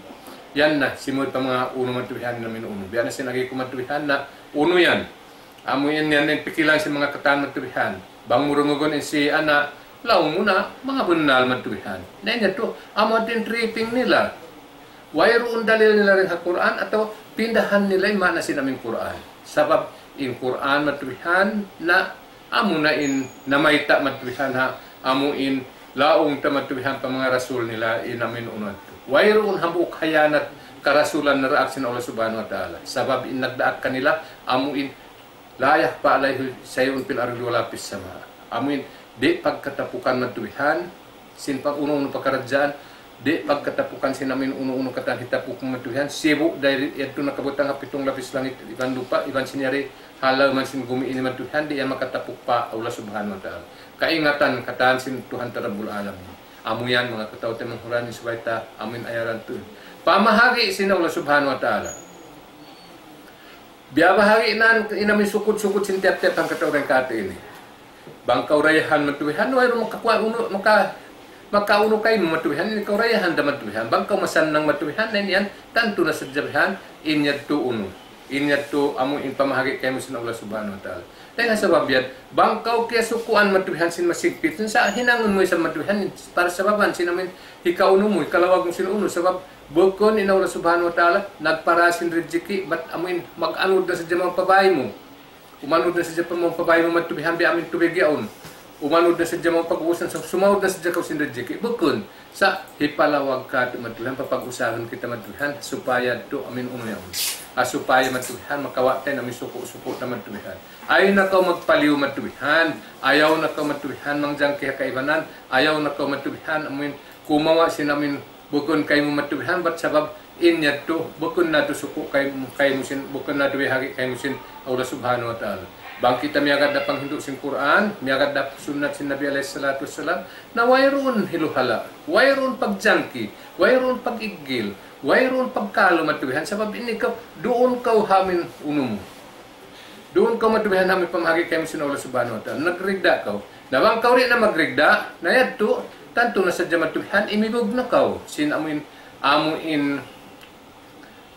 Yan na, simud pa manga unu madtu bihan in amu in unu. Biya' na sin agi ku madtu bihan na unu yan. Amu in yan in pikilan sin manga katan madtu bihan. Bang mu dungugun in Shia na, laung mu na, manga bunnal madtu bihan. Na in yadtu, amu yadtu in tripping nila. Wayruun dalil nila dayn ha Qur'an atawa pindahan nila in maana sin amu in Qur'an. Sabab in Qur'an madtu bihan na amu na in namayta' madtu bihan ha, amu in laung ta madtu bihan pa manga rasul nila in amu in unu yadtu. Wayruun hambuuk hayanat karasulan naraak sin Allah Subhanahu wa Ta'ala. Sabab in nagdaak kanila amu in لا يخفى عليه شيء في الأرض ولا في السماء. Amu in di' pagkatapukan madtu bihan, sin pag-unu-unu pakaradjaan, Di' pagkatapukan sin amin unu-unu katan hitapuk mu matuhihan, sibu' dayn yadtu nakabutang ha pitung lapis langit iban lupa', iban sin yari ha lawm sin gumi ini matuhihan, di' yan makatapuk pa Allah Subhanahu wa Ta'ala. Kaingatan katan sin Tuhan ta Rabbul Alamin. Amu yan manga kataw-taymanghuran, subay ta amin ayaran tuud. Pamahagi' sin Allah Subhanahu wa Ta'ala. Biya' bahagi' nan in amin sukud-sukud sin tiyap-tiyap hangkatau dayn kātu' ini. Bang kaw dayahan matuhihan, wayruun makakuha' unu, maka, makaunu kaymu matuhihan, in kaw dayahan da matuhihan. Bang kaw masannang matuhihan, na in yan, tantu na sadja bihan, in yadtu unu. In yadtu amu in pamahagi' kaymu sin Allah Subhanahu wa Ta'ala. Dayn ha sabab yan, bang kaw kiyasukuan matuhihan sin masigpit, sa' hinangun mu isab matuhihan, para sababan sin amin, hikaunu mu, hikalawag mu sin unu, sabab bukun in Allah Subhanahu wa Ta'ala, nagpara sin rijiki', bat amu in, mag-anud na sadja manga pabay mu. Umanud na sadja pa manga pabay mu matuhihan biya' amin tubig yaun. Umanud na sadja manga pag-ubusan sa sumaud na sadja kaw sin rijiki'. Bukun. Sa' hipalawag kātu' matuhihan, papag-usahun kita matuhihan, supaya tuud amin unu yaun. Ha supaya matuhihan, makawa' ta in amin suku'-suku' ta matuhihan. Ayaw na kaw magpaliyu matuhihan. Ayaw na kaw matuhihan, mangjangki ha kaibanan. Ayaw na kaw matuhihan, amin kumawa' sin amin bukun kaymu matuhihan, bat sabab in yadtu, bukun na tuud suku' kaymu, kaymu sin, bukun na tuud bihagi' kaymu sin Allah Subhanahu wa Ta'ala. Bang kita miyagad da panghindu' sin Qur'an, miyagad da sunnat sin Nabi alayhi salatu wassalam, na wayruun hiluhala', wayruun pagjangki, wayruun pag-iggil, wayruun pagkalu matuhihan, sabab ini kaw, duun kaw ha amin unu mu. Duun kaw matuhihan ha amin pamahagi' kaymu sin Allah Subhanahu wa Ta'ala. Nagrigda kaw. Na bang kaw di' na magrigda, na yadtu, tantu na sadja matuhihan, imibug na kaw. Sin amu in, amu in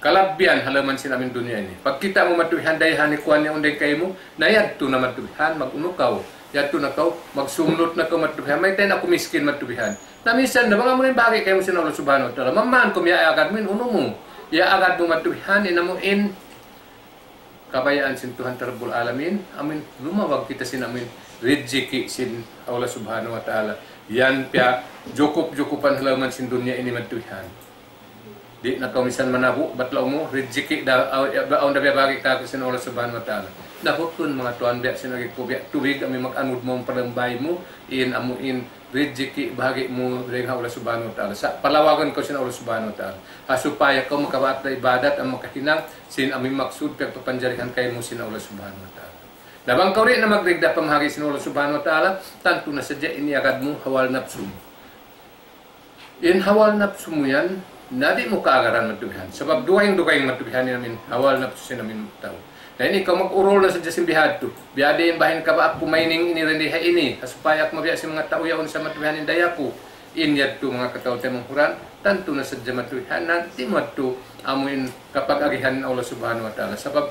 kalabbihan ha lawm sin amin dunya ini. Pagkita' mu matuhihan, dayahan ikuan niya unday kaymu, na yadtu na matuhihan, mag-unu kaw. Yadtu na kaw, magsumlut na kaw matuhihan. Mayta' in aku miskin matuhihan. Na minsan na, bang amu in bahagi' kaymu sin Allah Subhanahu wa Ta'ala. Mamman kum ya agad mu in unu mu. Ya agad mu matuhihan, in amu in kabayaan sin Tuhan ta Rabbul Alamin, amin lumawag kita sin amin rijiki' sin Allah Subhanahu wa Ta'ala. Yan piya jukup-jukupan ha lawm sin dunya ini matuhihan. Di' na kaw minsan manabu', bat laung mu, rijiki' da, aw, ya, awn da biyabahagi' kāku' sin Allah Subhanahu wa Ta'ala. Na bukun manga tuwan biya' sin agi ku biya' tubig, amin mag-anud mu, palambay mu, in amu in rijiki' bahagi' mu dayn ha Allah Subhanahu wa Ta'ala. Sa' palawagun kaw sin Allah Subhanahu wa Ta'ala. Ha supaya kaw makabaat da ibadat, amu makahinang, sin amu in maksud piyagpapanjarihan kaymu sin Allah Subhanahu wa Ta'ala. Na bang kaw di' na magrigda pamahagi' sin Allah Subhanahu wa Ta'ala, tantu na sadja in iyagad mu hawa napsu mu. In hawa napsu mu yan, na di' mu kaagaran matuhihan. Sabab dugaing-dugaing matuhihan in amin hawa napsu sin amin tau. Na ini kaw mag-urul na sadja sin bihadtu. Biya' diin baha' in kabaak ku mining ini rendi ha ini. Ha supaya aku mabiya' sin manga tau yaun sa matuhihan in daya ku. In yadtu manga kataw-taymanghuran, tantu na sadja matuhihan, na di' mu yadtu amu in kapag-agihan Allah Subhanahu wa Ta'ala. Sabab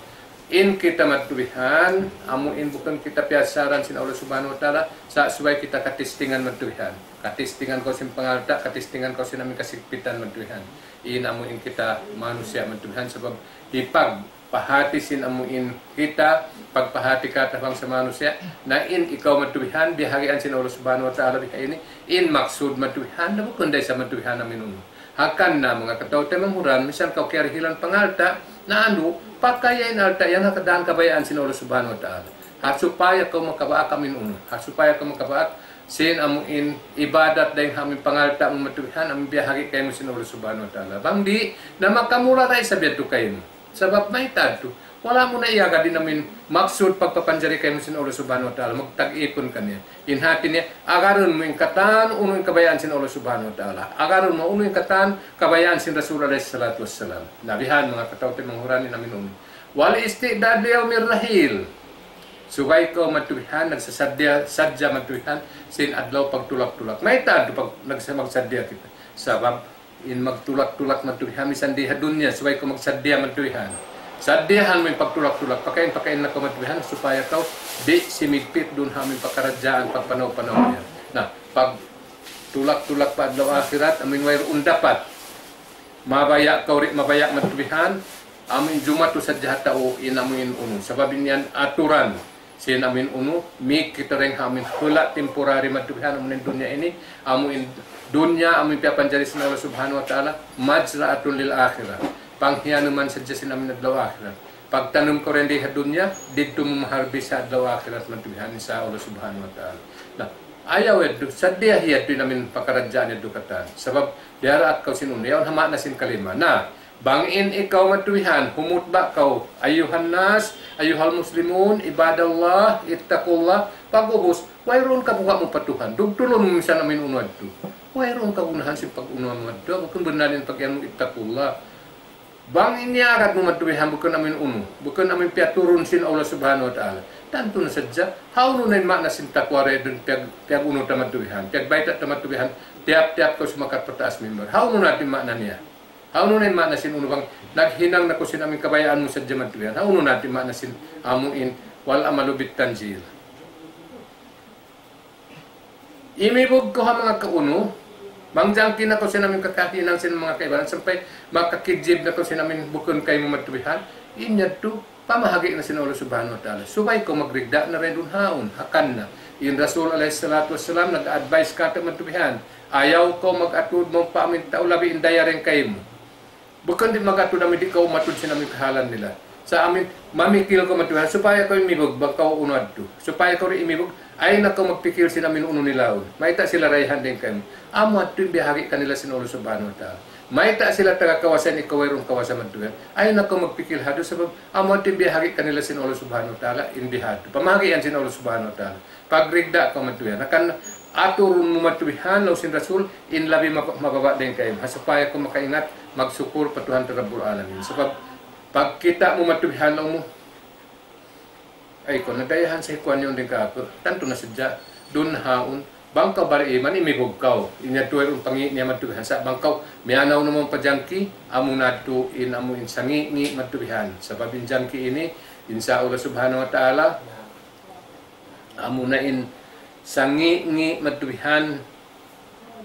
in kita matuhihan, amu in bukun kita piyasaran sin Allah Subhanahu wa Ta'ala, sa' subay kita katistingan matuhihan. Katistingan kaw sin pangalta', katistingan kaw sin amin kasigpitan matuhihan. In amu in kita manusiya' matuhihan, sabab hipag pahati sin amu in kita, pagpahati kata bangsa manusiya', na in ikaw matuhihan, bihagian sin Allah Subhanahu wa Ta'ala biha ini, in maksud matuhihan, na bukun da isab matuhihan amin unu. Hangkan na manga kataw-taymanghuran, minsan kaw kiyarihilan pangalta', na anu, pakaya in alta' yan ha kadaan kabayaan sin Allah Subhanahu wa Ta'ala. Ha supaya kaw makabaak amin unu, ha supaya kaw makabaak sin amu in ibadat dayn ha amin pangalta' mu matuhihan, amin biyahagi' kaymu sin Allah Subhanahu wa Ta'ala. Bang di', na makamura da isab yadtu kaymu. Sabab mayta' yadtu, wala' mu na iyagad in amin maksud pagpapanjari kaymu sin Allah Subhanahu wa Ta'ala, magtag-ipun kaniya. In hati niya, agarun mu in katan unu in kabayaan sin Allah Subhanahu wa Ta'ala. Agarun mu unu in katan kabayaan sin Rasul alayhi salatu wassalam. Na bihan manga kataw-taymanghuran in amin unu. Wal isti'dad li yawmir rahil. Subay kaw matuhihan, nagsasaddiya, sadja matuhihan, sin adlaw pagtulak-tulak. Mayta' yadtu pag nagsa-, magsaddiya kita. Sabab, in magtulak-tulak matuhihan, misan di ha dunya, subay kaw magsaddiya matuhihan. Saddiyahan mu in pagtulak-tulak, pakain-pakain na kaw matuhihan, supaya kaw di' simigpit duun ha amin pakaradjaan, pagpanaw-panaw niya. Na, pagtulak-tulak pa adlaw akhirat, amin wayruun dapat. Mabaya' kaw di' mabaya' matuhihan, amin jumatu sadja ha tau in amin unu. Sabab in yan aturan. Sin amin unu, mik kita dayn ha amin hula' temporary matuhihan amu in dunya ini, amu in dunya amu in piyapanjari sin Allah Subhanahu wa Ta'ala, mazra'atun lil akhirah. Panghiyanuman sadja sin amin adlaw akhirat. Pagtanum kaw dayn di ha dunya, didtu mu maharbis ha adlaw akhirat matuhihan insya Allah Subhanahu wa Ta'ala. Na, Ayaw yadtu, sadja yadtu in amin pakaradjaan yadtu katan. Sabab, diyaraak kaw sin unu, yaun ha maana sin kalima. Na, bang in ikaw matuwihan, humutba kaw, أيها الناس، أيها المسلمون، عباد الله، اتقوا الله, pag-ubus, wayruun kabuga' mu pa Tuhan, dugtulun mu misan amin unu yadtu. Wayruun kagunahan sin pag-unu mu yadtu, bukun bennal in pag-iyan mu اتقوا الله. Bang in iyagad mu matuwihan bukun amin unu, bukun amin piyaturun sin Allah Subhanahu wa Ta'ala. Tantu na sadja, hawnu na in maana sin taqwa dayn duun piyag, piyag-unu ta matuwihan, piyagbayta' ta matuwihan, tiyap-tiyap kaw sumakat pa taas mimbar. Hawnu na in maana niya? Hawnu na in maana sin unu bang, naghinang na kaw sin amin kabayaan mu sadja matuwihan. Hawnu na in maana sin amu in, والعمل بالتنزيل. Imibug kaw ha manga kaunu, mangjangki na kaw sin amin kakahinang sin manga kaibanan, sampay makakijib na kaw sin amin bukun kaymu matuwihan, in yadtu, pamahagi' na sin Allah Subhanahu wa Ta'ala. Subay kaw magrigda na dayn duun haun, hangkan na. In Rasul alayhi salatu wassalam nag-advise katu' matuwihan, ayaw kaw mag-atud mawn pa amin tau labi in daya dayn kaymu. Bukun di' mag-atud amin di' kaw umatud sin amin kahalan nila. Sa' amin, mamikil kaw matuwihan, supaya kaw imibug, bang kaw unu yadtu. Supaya kaw di' imibug, ayaw na kaw magpikil sin amin unu nila yaun. Mayta' sila dayahan dayn kaymu. Amu yadtu in biyahagi' kanila sin Allah Subhanahu wa Ta'ala. Mayta' sila taga kawasa in ikaw wayruun kawasa matuwihan. Ayaw na kaw magpikil ha yadtu sabab amu yadtu in biyahagi' kanila sin Allah Subhanahu wa Ta'ala, in bihadtu. Pamahagi' yan sin Allah Subhanahu wa Ta'ala. Pagrigda kaw matuwihan. Hangkan aturun mu matuwihan, laung sin Rasul, in labi mab-, mababa' dayn kaymu. Ha supaya kaw makaingat, magsukur pa Tuhan ta Rabbul Alamin. Sabab, pagkita' mu matuwihan, laung mu, ay, kaw nadayahan sa hi kuwan yaun dayn kāku'. Tantu na sadja, duun haun, bang kaw bariman, imibug kaw. In yadtu wayruun pangi' niya matuwihan. Sa' bang kaw, miyanaw na mawn pa jangki, amu na yadtu in amu in sangi'-ngi' matuwihan. Sabab in jangki ini, insya Allah Subhanahu wa Ta'ala, amu na in sangi'-ngi' matuwihan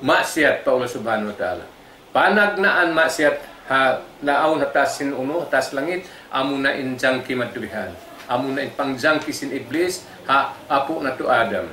maksiyat pa Allah Subhanahu wa Ta'ala. Panagnaan maksiyat ha naawn ha taas sin unu, ha taas langit, amu na in jangki matuwihan. Amu na in pangjangki sin Iblis ha apu' natu' Adam.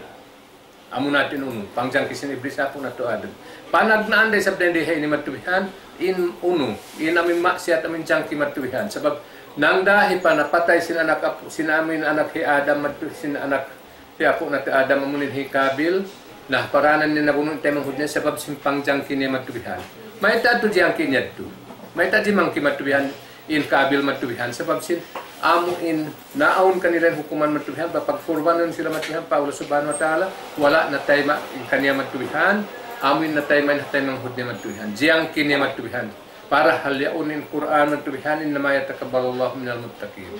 Amu na in unu, pangjangki sin Iblis ha apu' natu' Adam. Panagnaan da isab dayn di ha ini matuwihan, in unu, in amin maksiyat amin jangki matuwihan. Sabab, nangdahi pa napatay sin anak apu', sin amin anak hi Adam matu-, sin anak hi apu' natu' Adam amu in hi Kabil, na paranan niya nabunu' in taymanghud niya sabab sin pangjangki niya matuwihan. Mayta' tu jangki niya tu. Mayta' jimangki matuwihan in Kabil matuwihan. Sabab sin amu in naawn kanila in hukuman matuwihan, pagkurbanun sila matuwihan pa Allah Subhanahu wa Ta'ala, wala' natayma' in kaniya matuwihan, amu in natayma' in taymanghud niya matuwihan. Jiyangki niya matuwihan. Parahal yaun in Qur'an matuwihan, إنما يتقبل الله من المتقين.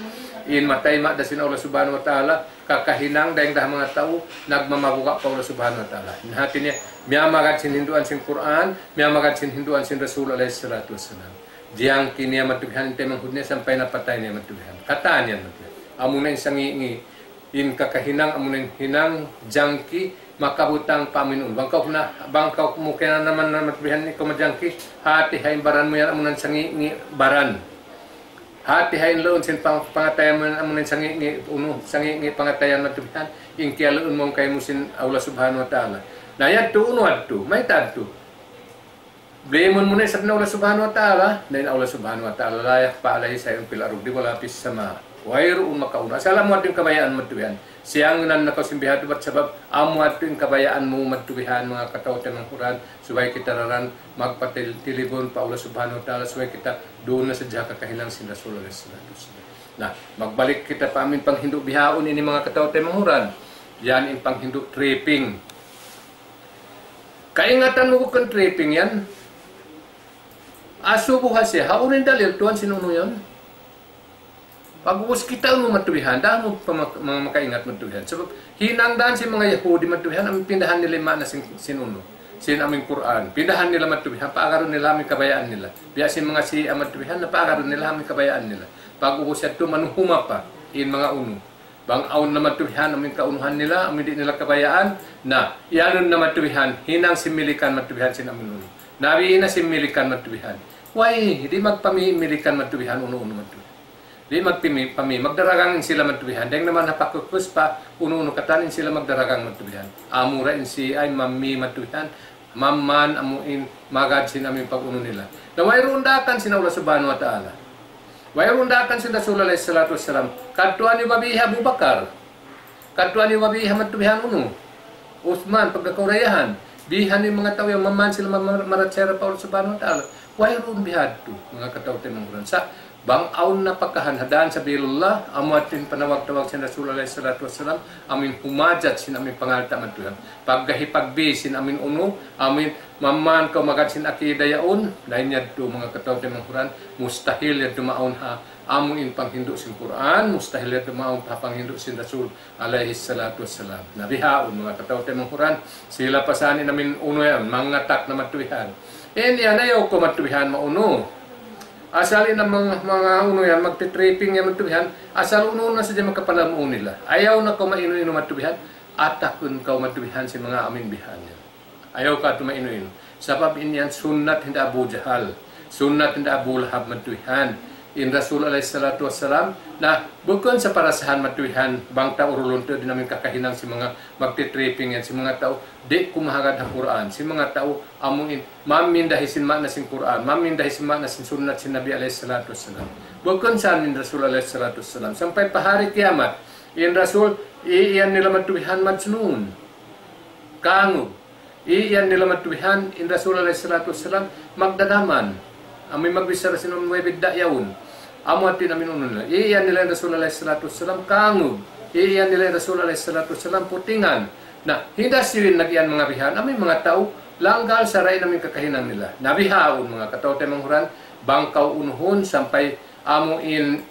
In matayma' da sin Allah Subhanahu wa Ta'ala, kakahinang dayn da ha manga tau, nagmamabuga' pa Allah Subhanahu wa Ta'ala. In hati niya, miyamagad sin hinduan sin Qur'an, miyamagad sin hinduan sin Rasul alayhi salatu wassalam. Jiyangki niya matuwihan in taymanghud niya sampay napatay niya matuwihan. Katan yan matuwihan. Amu na in sangi'-ngi', in kakahinang, amu na in hinang jangki, makabutang pa amin unu. Bang kaw na, bang kaw mu kaya naman na matuwihan ikaw majangki, hati ha in baran mu yan, amu na in sangi'-ngi' baran. Hati ha in laun sin pang-, pangatayan mu yan, amu na in sangi'-ngi' unu, sangi'-ngi' pangatayan matuwihan, in kiyaluun mu kaymu sin Allah Subhanahu wa Ta'ala. Na yadtu unu yadtu, mayta' yadtu. Blame mu na isab in Allah Subhanahu wa Ta'ala, na in Allah Subhanahu wa Ta'ala, لا يخفى عليه شيء في الأرض ولا في السماء. Wayruun makauna. Asal amu yadtu in kabayaan matuwihan. Siyang nan na kaw sin bihadtu bat sabab, amu yadtu in kabayaan mu matuwihan, manga kataw-taymanghuran, subay kita daran magpatil-, tilibun pa Allah Subhanahu wa Ta'ala, subay kita duun na sadja ha kakahinang sin Rasul alayhi salatu wassalam. Na, magbalik kita pa amin panghindu' bihaun ini manga kataw-taymanghuran. Yan in panghindu' tripping. Kaingatan mu bukun tripping yan. Asubu ha siya, hawnu in dalil tuwan sin unu yan? Pag-ubus kita unu matuwihan, dahan mu pa mak-, ma-, makaingat matuwihan. Sabab, hinang dahan sin manga Yahudi matuwihan, amu in pindahan nila in maana sin, sin unu, sin amu in Qur'an. Pindahan nila matuwihan, paagarun nila amu in kabayaan nila. Biya' sin manga Shia matuwihan, na paagarun nila amu in kabayaan nila. Pag-ubus yadtu manuhuma pa, in manga unu. Bang awn na matuwihan amu in kaunuhan nila, amu in di' nila kabayaan, na, iyanun na matuwihan, hinang sin milikan matuwihan sin amu in unu. Nabi na sin milikan matuwihan. Way, di' magpami-, milikan matuwihan, unu-unu matuwihan. Di' magpami-, pami-, magdaragang in sila matuwihan. Dayng naman ha pakukus pa, unu-unu katan in sila magdaragang matuwihan. Amura in Shia in mami matuwihan, mamman amu in magad sin amu in pag-unu nila. Na wayruun daakan sin Allah Subhanahu wa Ta'ala. Wayruun daakan sin Rasul alayhi salatu wassalam. Kadtuan niyu babi hi Abu Bakar. Kadtuan niyu babi hi matuwihan unu. Uthman, pagka kaw dayahan, bihan in manga tau yan, maman sila ma-, ma-, marachaya pa Allah Subhanahu wa Ta'ala. Wayruun bihadtu, manga kataw-taymanghuran. Sa' bang awn napakahan ha dan sabilillah, amu in panawag-tawag sin Rasul alayhi salatu wassalam, amu in humajat sin amu in pangalta' madtu yan. Paggahi pagbi sin amu in unu, amu in maman kaw magad sin akida yaun, dayn yadtu, manga kataw-taymanghuran, mustahil yadtu maawn ha amu in panghindu' sin Qur'an, mustahil yadtu maawn pa panghindu' sin Rasul alayhi salatu wassalam. Na bihaun, manga kataw-taymanghuran, sila pa sa in amu in unu yan, mangatak na madtu bihan. In yan, ayaw kaw madtu bihan maunu. Asal in manga, manga unu yan, magti-tripping yan madtu bihan, asal unu na sadja makapalamu nila. Ayaw na kaw mainu-inu madtu bihan, atakun kaw madtu bihan sin manga amu in bihan yan. Ayaw kaw tumainu-inu. Sabab in yan sunnat hinda Abu Jahal. Sunnat hinda Abu Lahab madtu bihan. In Rasul alayhi salatu wassalam, na bukun sa parasahan madtu bihan, bang ta urulun tu di' namin kakahinang sin manga magti-tripping yan, sin manga tau, di' kumahagad ha Qur'an, sin manga tau, amu in, mamindahi sin ma'na sin Qur'an, mamindahi sin ma'na sin sunnat sin Nabi alayhi salatu wassalam. Bukun sa in Rasul alayhi salatu wassalam. Sampay pa hari kiyamat, in Rasul, iyan nila madtu bihan majnun. Kangug. Iyan nila madtu bihan, in Rasul alayhi salatu wassalam, magdadaman. Amu in magbichara sin amu in way bidda' yaun. Amu hati in amu in unu nila. Iyan nila in Rasul alayhi salatu wassalam, kangug. Iyan nila in Rasul alayhi salatu wassalam, putingan. Na, hinda siyu in nag-iyan manga bihan, amu in manga tau, langgal sara' in amu in kakahinang nila. Na bihaun, manga kataw-taymanghuran, bang kaw unuhun sampay amu in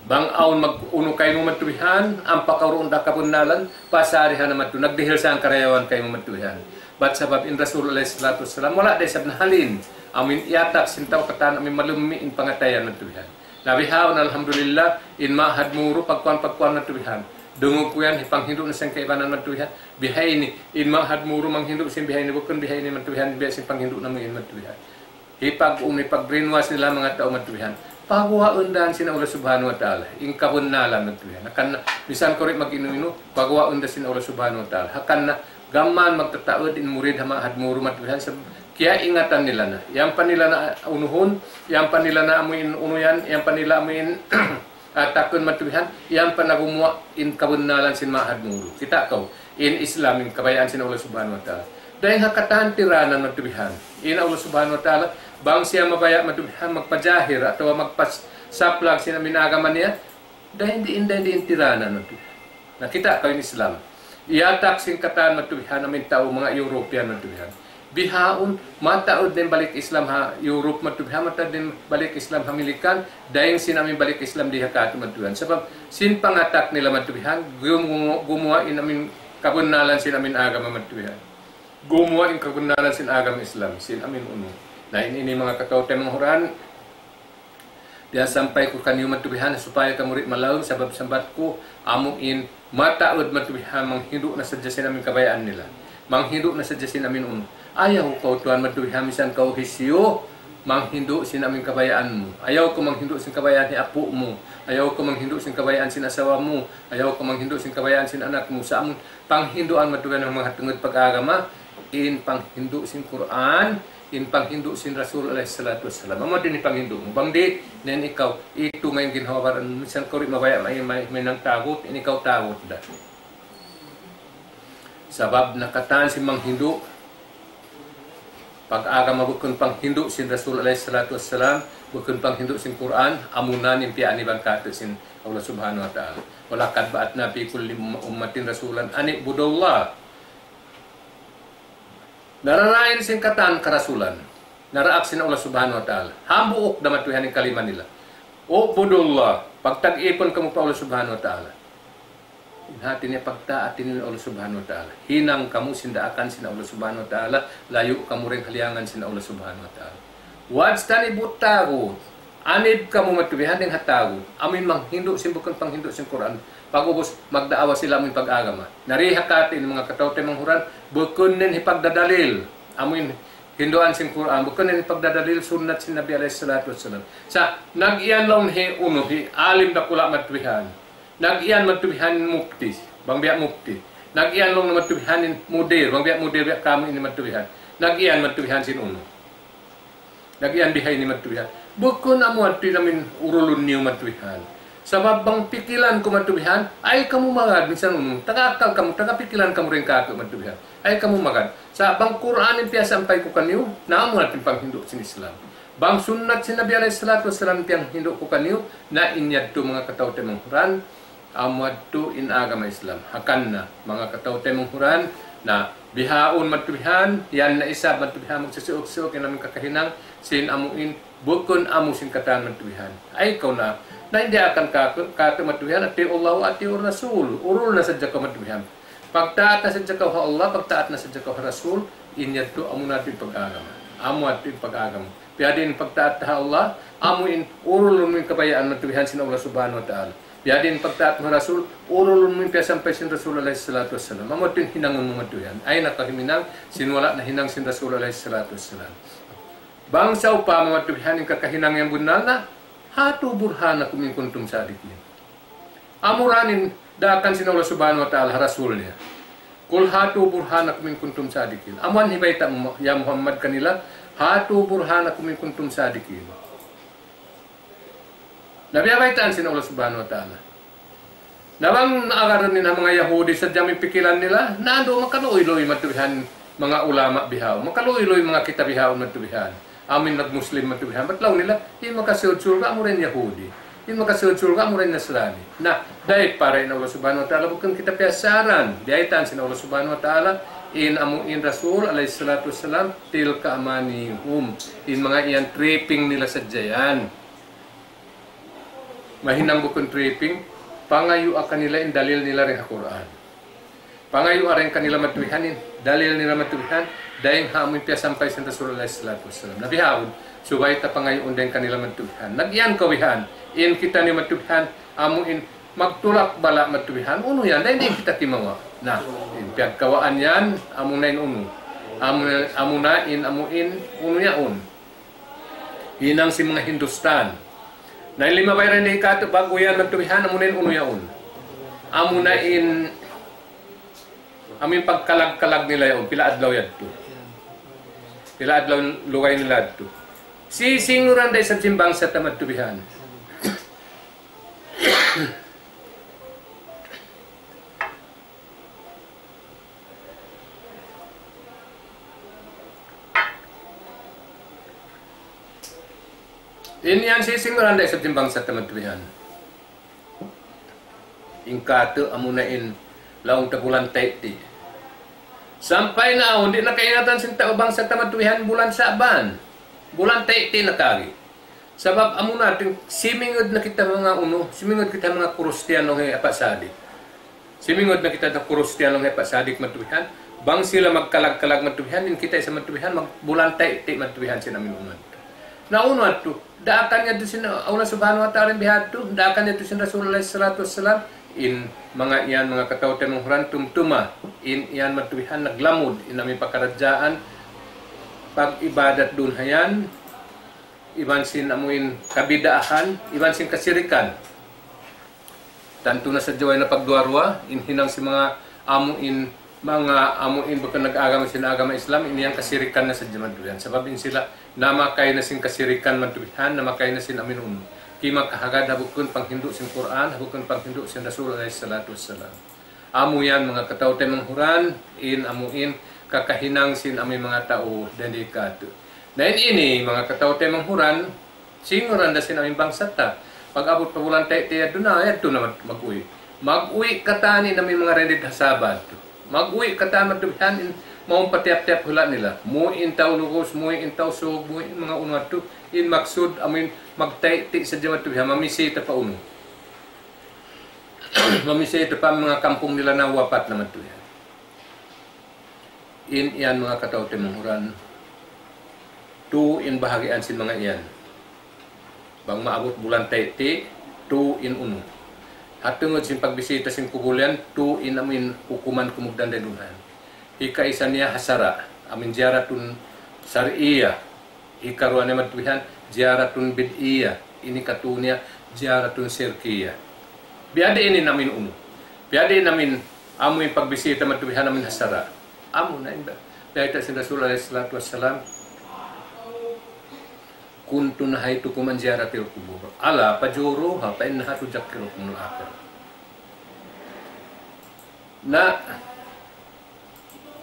bang awn mag-unu kaymu madtu bihan, ampa kaw duun da kabunnalan, pasarihan na madtu, nagdihil sa in karayawan kaymu madtu bihan. Bat sabab in Rasul alayhi salatu wassalam, wala' da isab nahalin, amu in iyatak sin tau katan amu in malummi' in pangatayan madtu bihan. Na bihaun, alhamdulillah, in Ma'had Muru, pagkuan-pagkuan madtu bihan. Dungug ku yan, hipanghindu' na sin kaibanan madtu bihan. Bihaini, in Ma'had Muru manghindu' sin bihaini, bukun bihaini madtu bihan, biya' sin panghindu' namu' in madtu bihan. Hipag-, um, hipag-brainwash nila manga tau madtu bihan. Paguwaun da sin Allah Subhanahu wa Ta'ala in kabunnalan madtu bihan. Hangkan na, misan kaw di' mag-inu-inu, paguwaun da sin Allah Subhanahu wa Ta'ala. Hangkan na, gam mayan magtataud in murid ha Ma'had Muru madtu bihan, sa' kiyaingatan nila na. Yan pa nila na unuhun, yan pa nila na amu in unu yan, yan pa nila amu in atakun madtu bihan, yan pa na gumuwa' in kabunnalan sin Ma'had Muru. Kita' kaw, in Islam, in kabayaan sin Allah Subhanahu wa Ta'ala. Dayn ha katan tiranan madtu bihan. In Allah Subhanahu wa Ta'ala, bang siya mabaya' madtu bihan, magpajahir, atawa magpasaplag sin amu in agama niya, dayn diin, dayn diin tiranan madtu bihan. Na kita' kaw in Islam. Iyatak sin katan madtu bihan, amu in tau manga European madtu bihan. Bihaun, mataud na in balik Islam ha Europe madtu bihan, mataud na in balik Islam ha Milikan, dayn sin amu in balik Islam di ha katu' madtu bihan. Sabab, sin pangatak nila madtu bihan, gumu-, gumuwa' in amu in kabunnalan sin amu in agama madtu bihan. Gumuwa' in kabunnalan sin agama Islam, sin amu in unu. Na in ini manga kataw-taymanghuran, diyasampay ku kaniyu madtu bihan supaya kamu di' malaung, sabab sambat ku amu in mataud madtu bihan manghindu' na sadja sin amu in kabayaan nila. Manghindu' na sadja sin amu in unu. Ayaw kaw tuwan madtu bihan misan kaw hisiyu, manghindu' sin amu in kabayaan mu. Ayaw kaw manghindu' sin kabayaan hi apu' mu. Ayaw kaw manghindu' sin kabayaan sin asawa mu. Ayaw kaw manghindu' sin kabayaan sin anak mu. Sa' amu in panghinduan madtu bihan manga tungud pag-agama, in panghindu' sin Qur'an, in panghindu' sin Rasul alayhi salatu wassalam. Amu diin in panghindu' mu. Bang di', na in ikaw, itu nga in ginhawa-baran, misan kaw di' mabaya' may, may, mahinang tagut, in ikaw tagut da. Sabab na katan sin manghindu' pag-agama bukun panghindu' sin Rasul alayhi salatu wassalam, bukun panghindu' sin Qur'an, amuna in piyaaniban katu' sin Allah Subhanahu wa Ta'ala. وَلَقَدْ بَعَثْنَا فِي كُلِّ أُمَّةٍ رَسُولًا أَنِ اعْبُدُوا اللَّهَ. Nararain sin katan karasulan. Naraak sin Allah Subhanahu wa Ta'ala. Hambuuk da madtu bihan in kalima nila. اعْبُدُوا اللَّهَ. Pagta'at kamu pa Allah Subhanahu wa Ta'ala. In hati niya pagtaat niyu in Allah Subhanahu wa Ta'ala. Hinang kamu sin daakan sin Allah Subhanahu wa Ta'ala. Layu' kamu dayn ha liyangan sin Allah Subhanahu wa Ta'ala. وَاجْتَنِبُوا الطَّاغُوتَ. Anib kamu madtu bihan dayn ha tagut. Amu in manghindu' sin bukun panghindu' sin Qur'an. Pag'ubus, magdaawa sila amu in pag-agama. Na di ha katu' in manga kataw-taymanghuran, bukun niyu hipagdadalil. Amu in hinduan sin Qur'an, bukun niyu hipagdadalil sunnat sin Nabi alayhi salatu wassalam. Sa', nag-iyan laung hi unu, hi alim dakula' madtu bihan. Nag-iyan madtu bihan mufti, bang biya' mufti. Nag-iyan laung madtu bihan in mudir, bang biya' mudir biya' kamu ini madtu bihan. Nag-iyan madtu bihan sin unu. Nag-iyan bihaini madtu bihan. Bukun amu adtu in amu in urulun niyu madtu bihan. Sabab bang pikilan ku matubihan, ay kamu magad, minsan unu, taga akal kamu, taga pikilan kamu dayn kāku' matubihan. Ay kamu magad. Sa' bang Qur'an in piyasampay ku kaniyu, na amu na in panghindu' sin Islam. Bang sunnat sin Nabi alayhi salatu wassalam piyanghindu' ku kaniyu, na in yadtu manga kataw-taymanghuran, amu yadtu in agama Islam. Hangkan na, manga kataw-taymanghuran, na bihaun matubihan, yan na isab matubihan magsisiuk-siuk in amu in kakahinang, sin amu in bukun amu sin katan matubihan. Ay kaw na, na in daakan kāku', kāku' matubihan, أطيعوا الله وأطيعوا الرسول. Urul na sadja kaw matubihan. Pagtaat na sadja kaw ha Allah, pagtaat na sadja kaw ha Rasul, in yadtu amu na in pag-agama. Amu yadtu in pag-agama. Biyadiin pagtaat ha Allah, amu in urul mu in kabayaan matubihan sin Allah Subhanahu wa Ta'ala. Biyadiin pagtaat ha Rasul, urul mu in piyasampay sin Rasul alayhi salatu wassalam. Amu yadtu in hinangun mu matubihan. Ay na kaw himinang, sin wala' nahinang sin Rasul alayhi salatu wassalam. Bang sawpama matubihan in kakahinang yan bunnal na, هاتوا برهانكم إن كنتم صادقين. Amura in daakan sin Allah Subhanahu wa Ta'ala ha Rasul niya. قل هاتوا برهانكم إن كنتم صادقين. Amu in hibayta' mu, ya Muhammad, kanila, هاتوا برهانكم إن كنتم صادقين. Na biya' baytaan sin Allah Subhanahu wa Ta'ala. Na bang agarun nila manga Yahudi sadja in pikilan nila, na adu makaluy-luy matubihan manga ulama bihaun, makaluy-luy manga kita bihaun matubihan. Amu in nag-Muslim matubihan. Bat laung nila, in makasud surga' amura in Yahudi. In makasud surga' amura in Nasrani. Na, dayn pa in Allah Subhanahu wa Ta'ala, bukun kita piyasaran. Biyaytaan sin Allah Subhanahu wa Ta'ala, in amu in Rasul alayhi salatu wassalam, تلك أمانيهم. In manga yan tripping nila sadja yan. Mahinang bukun tripping, pangayua kanila in dalil nila dayn ha Qur'an. Pangayua dayn kanila matubihan in dalil nila matubihan, dayn ha amu in piyasampay sin Rasul alayhi salatu wassalam. Na bihaun, subay ta pangayuun dayn kanila matubihan. Nag-iyan kaw bihan, in kitaniyu matubihan, amu in magtulak bala' matubihan, unu yan, dayn di' kita kimawa'. Na, in piyagkawaan yan, amu na in unu. Amu, amu na in, amu in, unu yaun. Hinang sin manga Hindustan. Na in limabay dayn di' kātu' ba'gu yan matubihan, amu na in unu yaun. Amu na in, amu in pagkalag-kalag nila yaun, pila adlaw yadtu. Pila adlaw lugay nila yadtu. Sisinguran da isab sin bangsa ta matubihan. In yan sisinguran da isab sin bangsa ta matubihan. In kātu' amu na in laung ta bulan Tayti'. Sampay na awn, di' na kaingatan sin tau bangsa ta matubihan bulan Sa'ban. Bulan Tayti' na kari. Sabab amu na, ting-, simingud na kita manga unu, simingud kita manga Kristiyanu ha Apa Sadik. Simingud na kita manga Kristiyanu ha Apa Sadik matubihan. Bang sila magkalag-kalag matubihan, in kita isab matubihan, magbulan Tayti' matubihan sin amin umat. Na unu yadtu, daakan yadtu sin Allah Subhanahu wa Ta'ala in bihadtu, daakan yadtu sin Rasul alayhi salatu wassalam, in manga yan, manga kataw-taymanghuran tumtuma, in yan matubihan naglamud, in amin pakaradjaan, pag-ibadat duun ha yan, iban sin amu in kabidaahan, iban sin kasirikan. Tantu na sadja way na pagduwa-ruwa, in hinang sin manga amu in, manga amu in bukun nag-agama sin agama Islam, in yan kasirikan na sadja matubihan. Sabab in sila namakay na sin kasirikan matubihan, namakay na sin amin unu. Kimakahagad ha bukun panghindu' sin Qur'an, ha bukun panghindu' sin Rasul alayhi salatu wassalam. Amu yan manga kataw-taymanghuran, in amu in kakahinang sin amu in manga tau dayn di kātu'. Na in ini, manga kataw-taymanghuran, singuran da sin amu in bangsa ta. Pag-abut pa bulan Tayti' yadtu na, yadtu na mag-, mag-uwi'. Mag-uwi' katan in amu in manga dayn di ha Sabah yadtu. Mag-uwi' katan matubihan in mawn pa tiyap-tiyap hula' nila. Muwi' in tau Logos, muwi' in tau Sug, muwi' in manga unu yadtu. In maksud, amu in magtayti' sadja matubihan, mamisita pa unu. Mamisita pa manga kampung nila na wapat na matubihan. In yan manga kataw-taymanghuran, tu in bahagian sin manga yan. Bang maabut bulan Tayti', tu in unu. Ha tungud sin pagbisita sin kubul yan, tu in amu in hukuman kumugdan dayn duun. Hikaisa niya ha sara', amu in ziyaratun shar'iyyah. Hikaruwa niya matubihan, ziyaratun bid'iyyah. Ini katu niya, ziyaratun shirkiyyah. Biyadiin in amu in unu. Biyadiin in amu in, amu in pagbisita matubihan amu in ha sara'. Amu na in ba-, bayta' sin Rasul alayhi salatu wassalam. كنت نهيتكم عن زيارة القبور، ألا فزوروها فإنها تذكركم الآخرة. Na,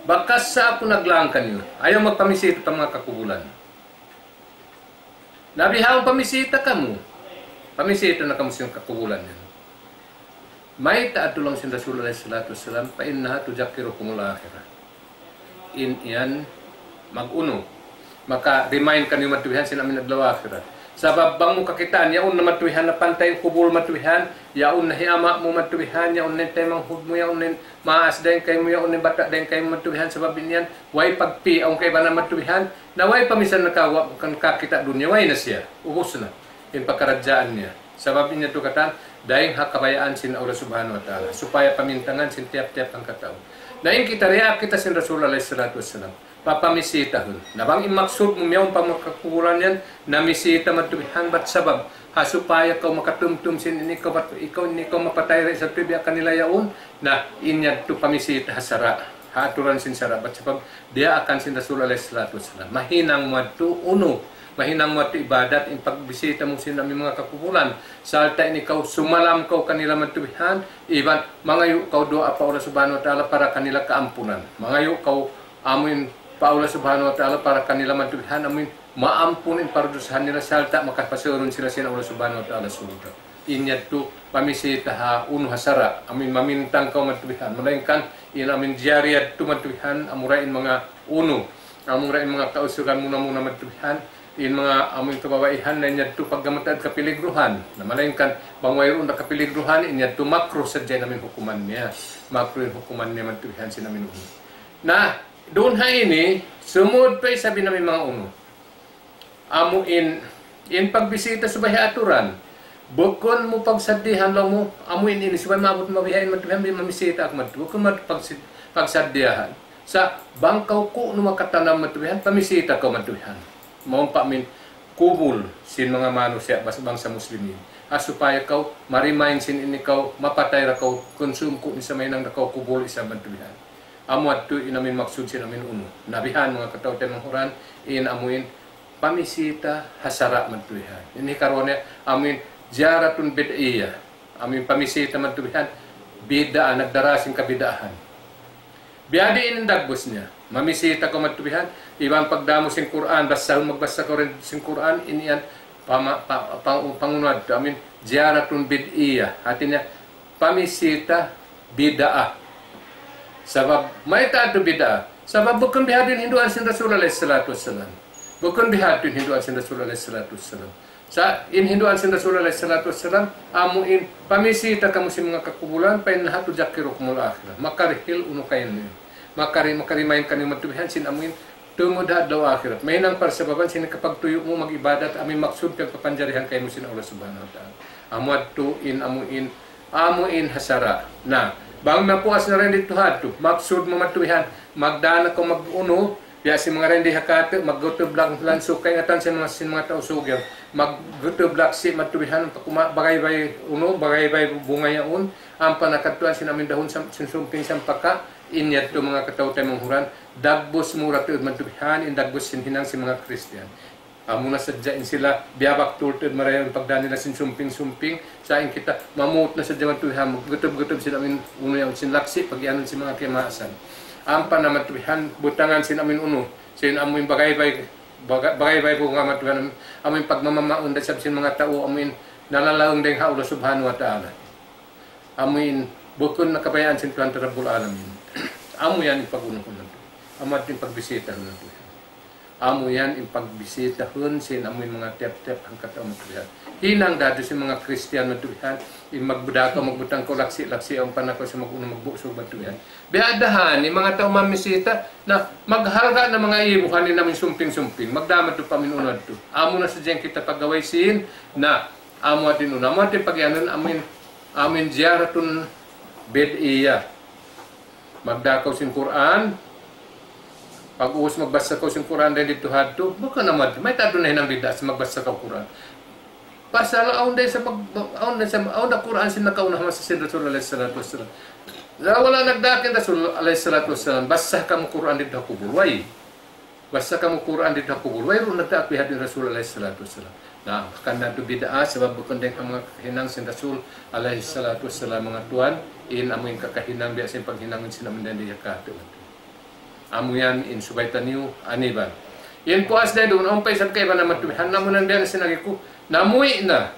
bakas sa aku naglaang kaniyu, ayaw magpamisita pa manga kakubulan. Na bihaun pamisita kamu, pamisita na kamu sin kakubulan yan. Mayta' adtu laung sin Rasul alayhi salatu wassalam, فإنها تذكركم الآخرة. In yan mag-unu. Maka-remind kaniyu matubihan sin amin adlaw akhirat. Sabab bang mu kakitaan, yaun na matubihan na pantay in kubul matubihan, yaun na hi ama' mu matubihan, yaun na in taymanghud mu, yaun na in maas dayn kaymu, yaun na in bata' dayn kaymu matubihan, sabab in yan, way pagpi, awn kaibanan matubihan, na way pa misan nakawa-, kan kakita' dunya, way na siya. Ubus na. In pakaradjaan niya. Sabab in yadtu katan, dayn ha kabayaan sin Allah Subhanahu wa Ta'ala, supaya pamintangan sin tiyap-tiyap hangkatau. Na in kita, riya kita sin Rasul alayhi salatu wassalam, papamisitahun. Na bang in maksud mu miyawn pa manga kakubulan yan, na misita matubihan bat sabab, ha supaya kaw makatumtum sin ini kaw bat, ikaw ini kaw mapatay ra isab tuud biya' kanila yaun, na in yadtu pamisita ha sara', ha aturan sin sara', bat sabab, diyaakan sin Rasul alayhi salatu wassalam. Mahinang mu yadtu unu, mahinang mu yadtu ibadat in pagbisita mu sin amin manga kakubulan. Sarta' in ikaw sumalam kaw kanila matubihan, iban mangayu' kaw duwaa pa Allah Subhanahu wa Ta'ala para kanila kaampunan. Mangayu' kaw amuin pa Allah Subhanahu wa Ta'ala para kanila matubihan, amuin maampun in pardusahan nila sarta' makapasurun sila sin Allah Subhanahu wa Ta'ala surga'. In yadtu pamisita ha unu ha sara', amuin mamintang kaw matubihan. Malaingkan in amuin ziyarah yadtu matubihan, amura in manga unu, amura in manga kausugan muna-muna matubihan, in manga amuin kababaihan na in yadtu paggamatan kapiligruhan. Na malaingkan, bang wayruun da kapiligruhan, in yadtu makruh sadja in amuin hukuman niya. Makruh in hukuman niya matubihan sin amuin unu. Na, duun ha ini, sumud pa isab in amuin manga unu. Amu in, in pagbisita subay ha aturan. Bukun mu pagsadihan laung mu, amu in ini subay maabut mabihain matubihan, bi-, mamisita aku matu. Bukun mu pagsi-, pagsadihan. Sa' bang kaw kunu' makatanam matubihan, pamisita kaw matubihan. Mawn pa amuin kubul sin manga manusiya' bas-, bangsa Muslimin. Ha supaya kaw ma-remind sin ini kaw, mapatay ra kaw, kunsum ku in sa mahinang da kaw kubul isab matubihan. Amu yadtu in amuin maksud sin amuin unu. Na bihan manga kataw-taymanghuran, in amuin pamisita ha sara' matubihan. Ini karuwa niya, amuin ziyaratun bid'iyyah. Amuin pamisita matubihan, bid'ah, nagdara sin kabid'ahan. Biyadiin in dagbus niya. Mamisita kaw matubihan, iban pagdaamu sin Qur'an, basahun magbasa kaw dayn sin Qur'an, in yan, pama-, pa-, pa-, pangunu yadtu, amuin ziyaratun bid'iyyah. Hati niya, pamisita bid'ah. Sabab, mayta' yadtu bid'ah? Sabab bukun bihadtu in hinduan sin Rasul alayhi salatu wassalam. Bukun bihadtu in hinduan sin Rasul alayhi salatu wassalam. Sa' in hinduan sin Rasul alayhi salatu wassalam, amu in pamisita kamu sin manga kakubulan, فإنها تذكركم الآخرة. Makarihil unu kayan niya. Makari-, makarimain kaniyu matubihan sin amu in tungud ha adlaw akhirat. Mahinang parsababan sin kapagtuyu' mu mag-ibadat, amu in maksud pagpapanjarihan kaymu sin Allah Subhanahu wa Ta'ala. Amu yadtu in amu in, amu in ha sara'. Na, bang napuas na dayn didtu ha yadtu, maksud mu matubihan, magdaan na kaw mag-unu, biya' sin manga dayn di ha katu', maggutub lang-, langsuk, kaingatan sin manga, sin manga tau Sug yan. Maggutub laksi matubihan, pakuma-, bagaybay unu, bagaybay bunga yaun, ampa na kadtuan sin amuin dahun sam-, sin sumping sampaka', in yadtu manga kataw-taymanghuran, dagbus mura tuud matubihan, in dagbus sin hinang sin manga Kristiyan. Amu na sadja in sila, biyabaktul tuud marayaw in pagdaan nila sin sumping-sumping, sa' in kita, mamut na sadja matubihan, maggutub-gutub sin amuin unu yan sin laksi, pag-iyanun sin manga kiyamaasan. Ampa na matubihan, butangan sin amuin unu, sin amuin bagaybay, baga-, bagaybay bunga matubihan, amuin pagmamamaun da isab sin manga tau, amuin nalalaung dayn ha Allah Subhanahu wa Ta'ala. Amu in bukun na kabayaan sin Tuhan ta Rabbul Alamin. Amu yan in pag-unuhun natu'. Amu yan in pagbisitahun natu'. Amu yan in pagbisitahun sin amu in manga tiyap-tiyap hangkat amu tuhan. Hinang da sin manga Kristiyan natu' yan. In magbudaka, magbutang kaw laksi-laksi, amu pa na kaw sa mag-unu magbusug natu' yan. Biya' da ha yan, in manga tau mamisita, na maghalga' na manga ibuhan in amu in sumping-sumping. Magdamag tu pa amu in unu natu'. Amu na sadja in kita pagaway sin, na Amu yadtu in unu, amu yadtu in pagiyanun, amu in, amu in ziyaratun bid'iyyah. Magdā kaw sin Qur'an, pag'ubus magbasa kaw sin Qur'an dayn didtu hadtu, bukun amu yadtu. Mayta' adtu nahinang bid'ah sin magbasa kaw Qur'an? Pasal awn da isab mag-, awn da isab, awn da Qur'an sin nakauna masa sin Rasul alayhi salatu wassalam. Wala' nagdā in Rasul alayhi salatu wassalam, basa kamu Qur'an didtu ha kubul. Way. Basa kamu Qur'an didtu ha kubul. Wayruun nagdaak biya' hadtu in Rasul alayhi salatu wassalam. Na, hangkan na yadtu bid'ah, sabab bukun dayn ha manga kakahinang sin Rasul alayhi salatu wassalam, manga tuwan, in amu in kakahinang biya' sin paghinang sin amu in dayn di ha katu'. Amu yan in subay taniyu aniban. In puas dayn duun, awn pa isab kaibanan matubihan, namu' na biya' na sin agi ku, namuwi' na.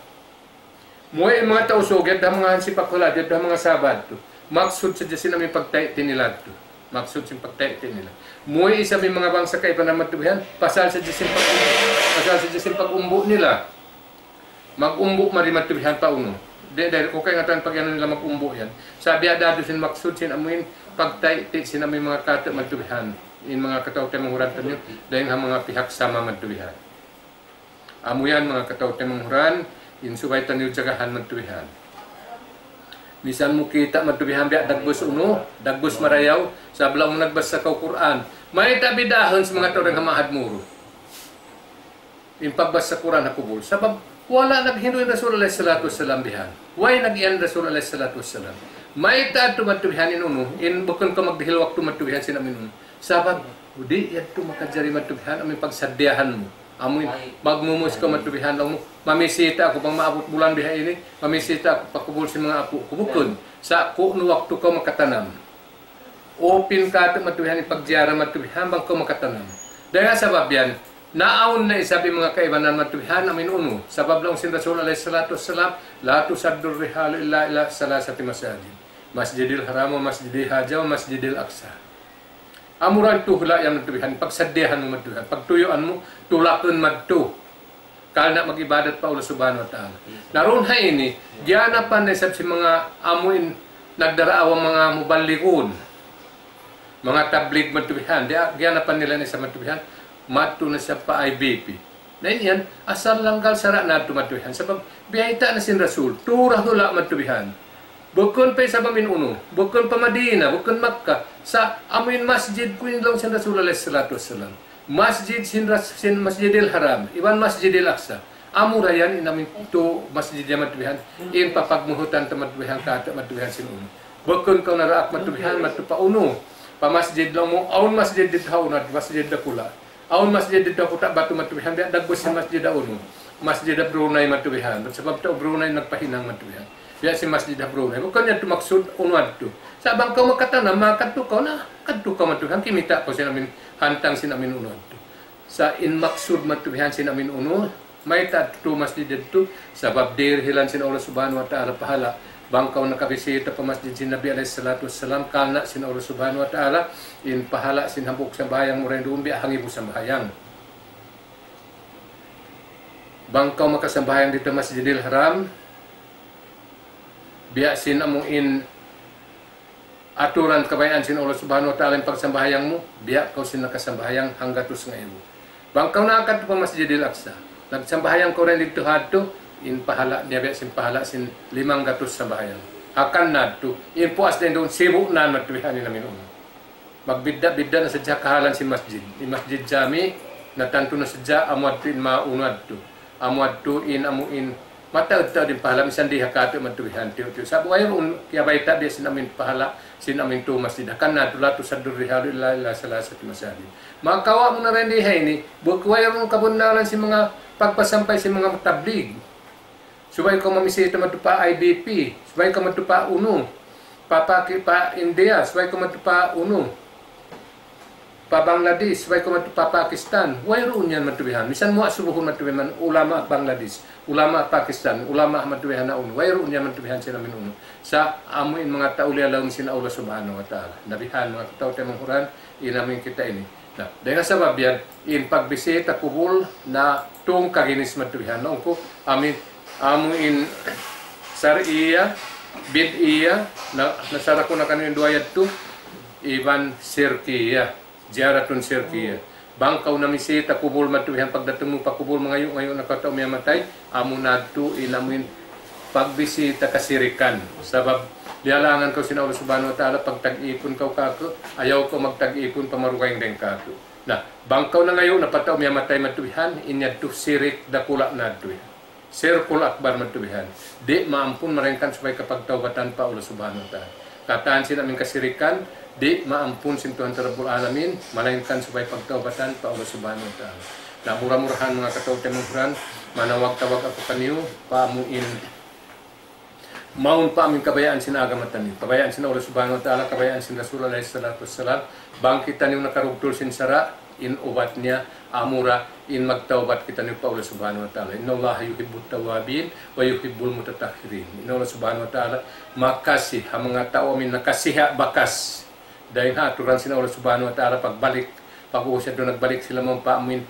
Muwi' in manga Tausug, yadtu ha manga hansipak hula', yadtu ha manga Sabah yadtu. Maksud sadja sin amu in pagtay'ti' nila yadtu. Maksud sin pagtay'ti' nila. Muwi' isab in manga bangsa kaibanan matubihan, pasal sadja sin pag-, pasal sadja sin pag-umbu' nila. Mag-umbu' mari matubihan pa unu. Di', di', ku kaingatan pag-anu nila mag-umbu' yan. Sa' biya' da yadtu sin maksud sin amu in pagtay'ti' sin amu in manga katu' matubihan. In manga kataw-taymanghuran taniyu, dayn ha manga pihak sama matubihan. Amu yan manga kataw-taymanghuran, in subay taniyu jagahan matubihan. Misan mu kita' matubihan biya' dagbus unu, dagbus marayaw, sabab laung mu nagbasa kaw Qur'an. Mayta' bid'ahun sin manga tau dayn ha Ma'had Muru in pagbasa Qur'an ha kubul. Sabab wala' naghindu' in Rasul alayhi salatu wassalam bihan. Way nag-iyan Rasul alayhi salatu wassalam. Mayta' yadtu matubihan in unu, in bukun kaw magdihil waktu matubihan sin amu in unu. Sabab, di' yadtu makajari matubihan, amu in pagsaddiyahan mu. Amu in, magmumus kaw matubihan, laung mu, mamisita aku, bang maabut bulan biha' ini, mamisita aku pa kubul sin manga apu' ku. Bukun, sa' kunu' waktu kaw makatanam. Open katu' matubihan in pagjiyara matubihan, bang kaw makatanam. Dayn ha sabab yan, naawn na isab in manga kaibanan matubihan, amu in unu. Sabab laung sin Rasul alayhi salatu wassalam, لا تشد الرحال إلا إلى ثلاثة مساجد. مسجد الحرام ومسجد هذا ومسجد الأقصى. Amura in tuhla' yan matubihan, pagsaddiyahan mu matubihan, pagtuyuan mu, tulakun madtu. Karna' mag-ibadat pa Allah Subhanahu wa Ta'ala. Na duun ha ini, giyanapan na isab sin manga amu in nagdaraawa manga muballigun. Manga tablig matubihan, di', giyanapan nila na isab matubihan, madtu na isab pa I B P. Na in yan, asal langgal sara' na yadtu matubihan. Sabab, biyayta' na sin Rasul, tura hula' matubihan. Bukun pa isab amu in unu, bukun pa Madina, bukun Makkah. Sa' amu in masjid ku in laung sin Rasul alayhi salatu wassalam. Masjid sin Ras-, sin Masjidil Haram, iban Masjidil Aqsa. Amura yan in amu in tu masjid yan matubihan, in papagmuhutan ta matubihan, katu' matubihan sin unu. Bukun kaw naraak matubihan, madtu pa unu. Pa masjid laung mu, awn masjid didtu ha unu, masjid dakula'. Awn masjid didtu ha Kuta' Batu matubihan, biya' dagbus sin masjid ha unu. Masjid ha Brunei matubihan. Sabab tau Brunei nagpahinang matubihan. Biya' sin masjid ha Brunei. Bukun yadtu maksud unu yadtu. Sa' bang kaw makatanam, makadtu kaw na, kadtu kaw matubihan, kimita' kaw sin amu in, hantang sin amu in unu yadtu. Sa' in maksud matubihan sin amu in unu, mayta' tu masjid yadtu, sabab dirihilan sin Allah Subhanahu wa Ta'ala pahala'. Bang kaw nakabisita pa masjid sin Nabi alayhi salatu wassalam, karna' sin Allah Subhanahu wa Ta'ala, in pahala' sin hambuuk sambahayang mu dayn duun biya' hangibu sambahayang. Bang kaw makasambahayang didtu Masjidil Haram, biya' sin amu in aturan kabayaan sin Allah Subhanahu wa Ta'ala in pagsambahayang mu, biya' kaw sin nakasambahayang hanggatus ngaibu. Bang kaw nakadtu pa Masjidil Aqsa, nagsambahayang kaw dayn didtu hadtu, in pahala' niya biya' sin pahala' sin limanggatus sambahayang. Hangkan na yadtu, in puas dayn duun sibu' na matubihan in amu in unu. Magbidda'-bidda' na sadja kahalan sin masjid. In masjid jami, natantu na sadja amu yadtu in maunu yadtu. Amu yadtu in amu in mataud-taud in pahala' misan di ha katu' matubihan tiyu'-tiyu'. Sabab wayruun kiyabayta' biya' sin amu in pahala' sin amu in tu masjid. Hangkan na yadtu لا تشد الرحال إلا إلى ثلاثة مساجد. Makawa' mu na dayn di ha ini, bukun wayruun kabunnalan sin manga pagpasampay sin manga tablig. Subay kaw mamisita madtu pa I B P, subay kaw madtu pa unu, pa Paki-, pa India, subay kaw madtu pa unu, pa Bangladesh, subay kaw madtu pa Pakistan. Wayruun yan matubihan. Misan mu asubuhun matubihan, ulama Bangladesh, ulama Pakistan, ulama matubihan na unu. Wayruun yan matubihan sin amu in unu. Sa' amu in manga tau liyalaum sin Allah Subhanahu wa Ta'ala. Na bihan, manga tau taymanghud, in amu in kita' ini. Na, dayn ha sabab yan, in pagbisita kubul na tungka ginis matubihan. Laung ku, amu in, amu in shar'iyya, bid'iyya, na, nasara ku na kaniyu in duwa yadtu, iban shirkiyya, ziyaratun shirkiyya. Bang kaw namisita kubul matubihan, pagdatung mu pa kubul mangayu'-ngayu' na kaw tau miyamatay, amu na yadtu in amu in pagbisita kasirikan. Sabab, liyalangan kaw sin Allah Subhanahu wa Ta'ala, pagtag-ipun kaw kāku', ayaw kaw magtag-ipun pa marugaing dayn kāku'. Na, bang kaw nangayu' na pa tau miyamatay matubihan, in yadtu sirik dakula' na yadtu yan. Shirkul akbar matubihan. Di' maampun malaingkan subay kapagtawbatan pa Allah Subhanahu wa Ta'ala. Katan sin amu in kasirikan, di' maampun sin Tuhan Rabbul Alamin, malaingkan subay pagtaubatan pa Allah Subhanahu wa Ta'ala. Na mura-murahan manga kataw-taymanghuran, manawag-tawag aku kaniyu, pa amu in mawn pa amu in kabayaan sin agama taniyu, kabayaan sin Allah Subhanahu wa Ta'ala, kabayaan sin Rasul alayhi salatu wassalam, bang kitaniyu nakarugtul sin sara', in ubat niya, amura in magtawbat kitaniyu pa Allah Subhanahu wa Ta'ala. إن الله يحب التوابين ويحب المتطهرين. In Allah Subhanahu wa Ta'ala makasi ha manga tau amu in nakasiha' bakas. Dayn ha aturan sin Allah Subhanahu wa Ta'ala pagbalik, pag-ubus yadtu nagbalik sila mawn pa amu in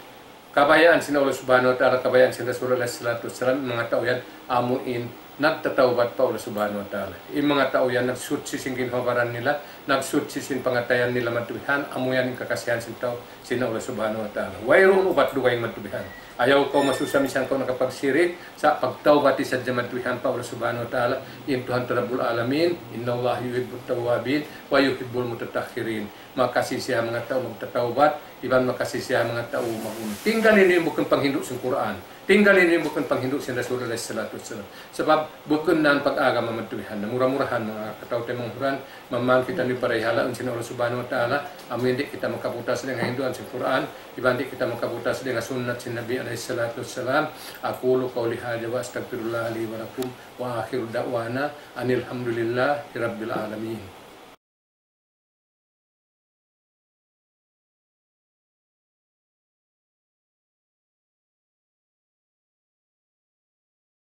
kabayaan sin Allah Subhanahu wa Ta'ala, kabayaan sin Rasul alayhi salatu wassalam, manga tau yan amu in nagtatawbat pa Allah Subhanahu wa Ta'ala. In manga tau yan nagsuchi sin ginhawa-baran nila, nagsuchi sin pangatayan nila madtu bihan, amu yan in kakasihan sin tau, sin Allah Subhanahu wa Ta'ala. Wayruun ubat dugaing madtu bihan. Ayaw kaw masusa misan kaw nakapagsirik, sa' pagtawbati sadja madtu bihan pa Allah Subhanahu wa Ta'ala, in Tuhan Rabbul Alamin, إن الله يحب التوابين ويحب المتطهرين. Makasi siya manga tau magtatawbat, iban makasi siya manga tau mag-, tinggali niyu in bukun panghindu' sin Qur'an. Tinggali niyu in bukun panghindu' sin Rasul alayhi salatu wassalam. Sabab bukun na in pag-agama madtu bihan. Na mura-murahan manga kataw-taymanghuran, maman kitaniyu parihalaun sin Allah Subhanahu wa Ta'ala, amu in di' kita makaputas dayn ha hinduan sin Qur'an, iban di' kita makaputas dayn ha sunnat sin Nabi alayhi salatu wassalam. أقول قولي هذا وأستغفر الله لي ولكم وآخر دعوانا أن الحمد لله رب العالمين.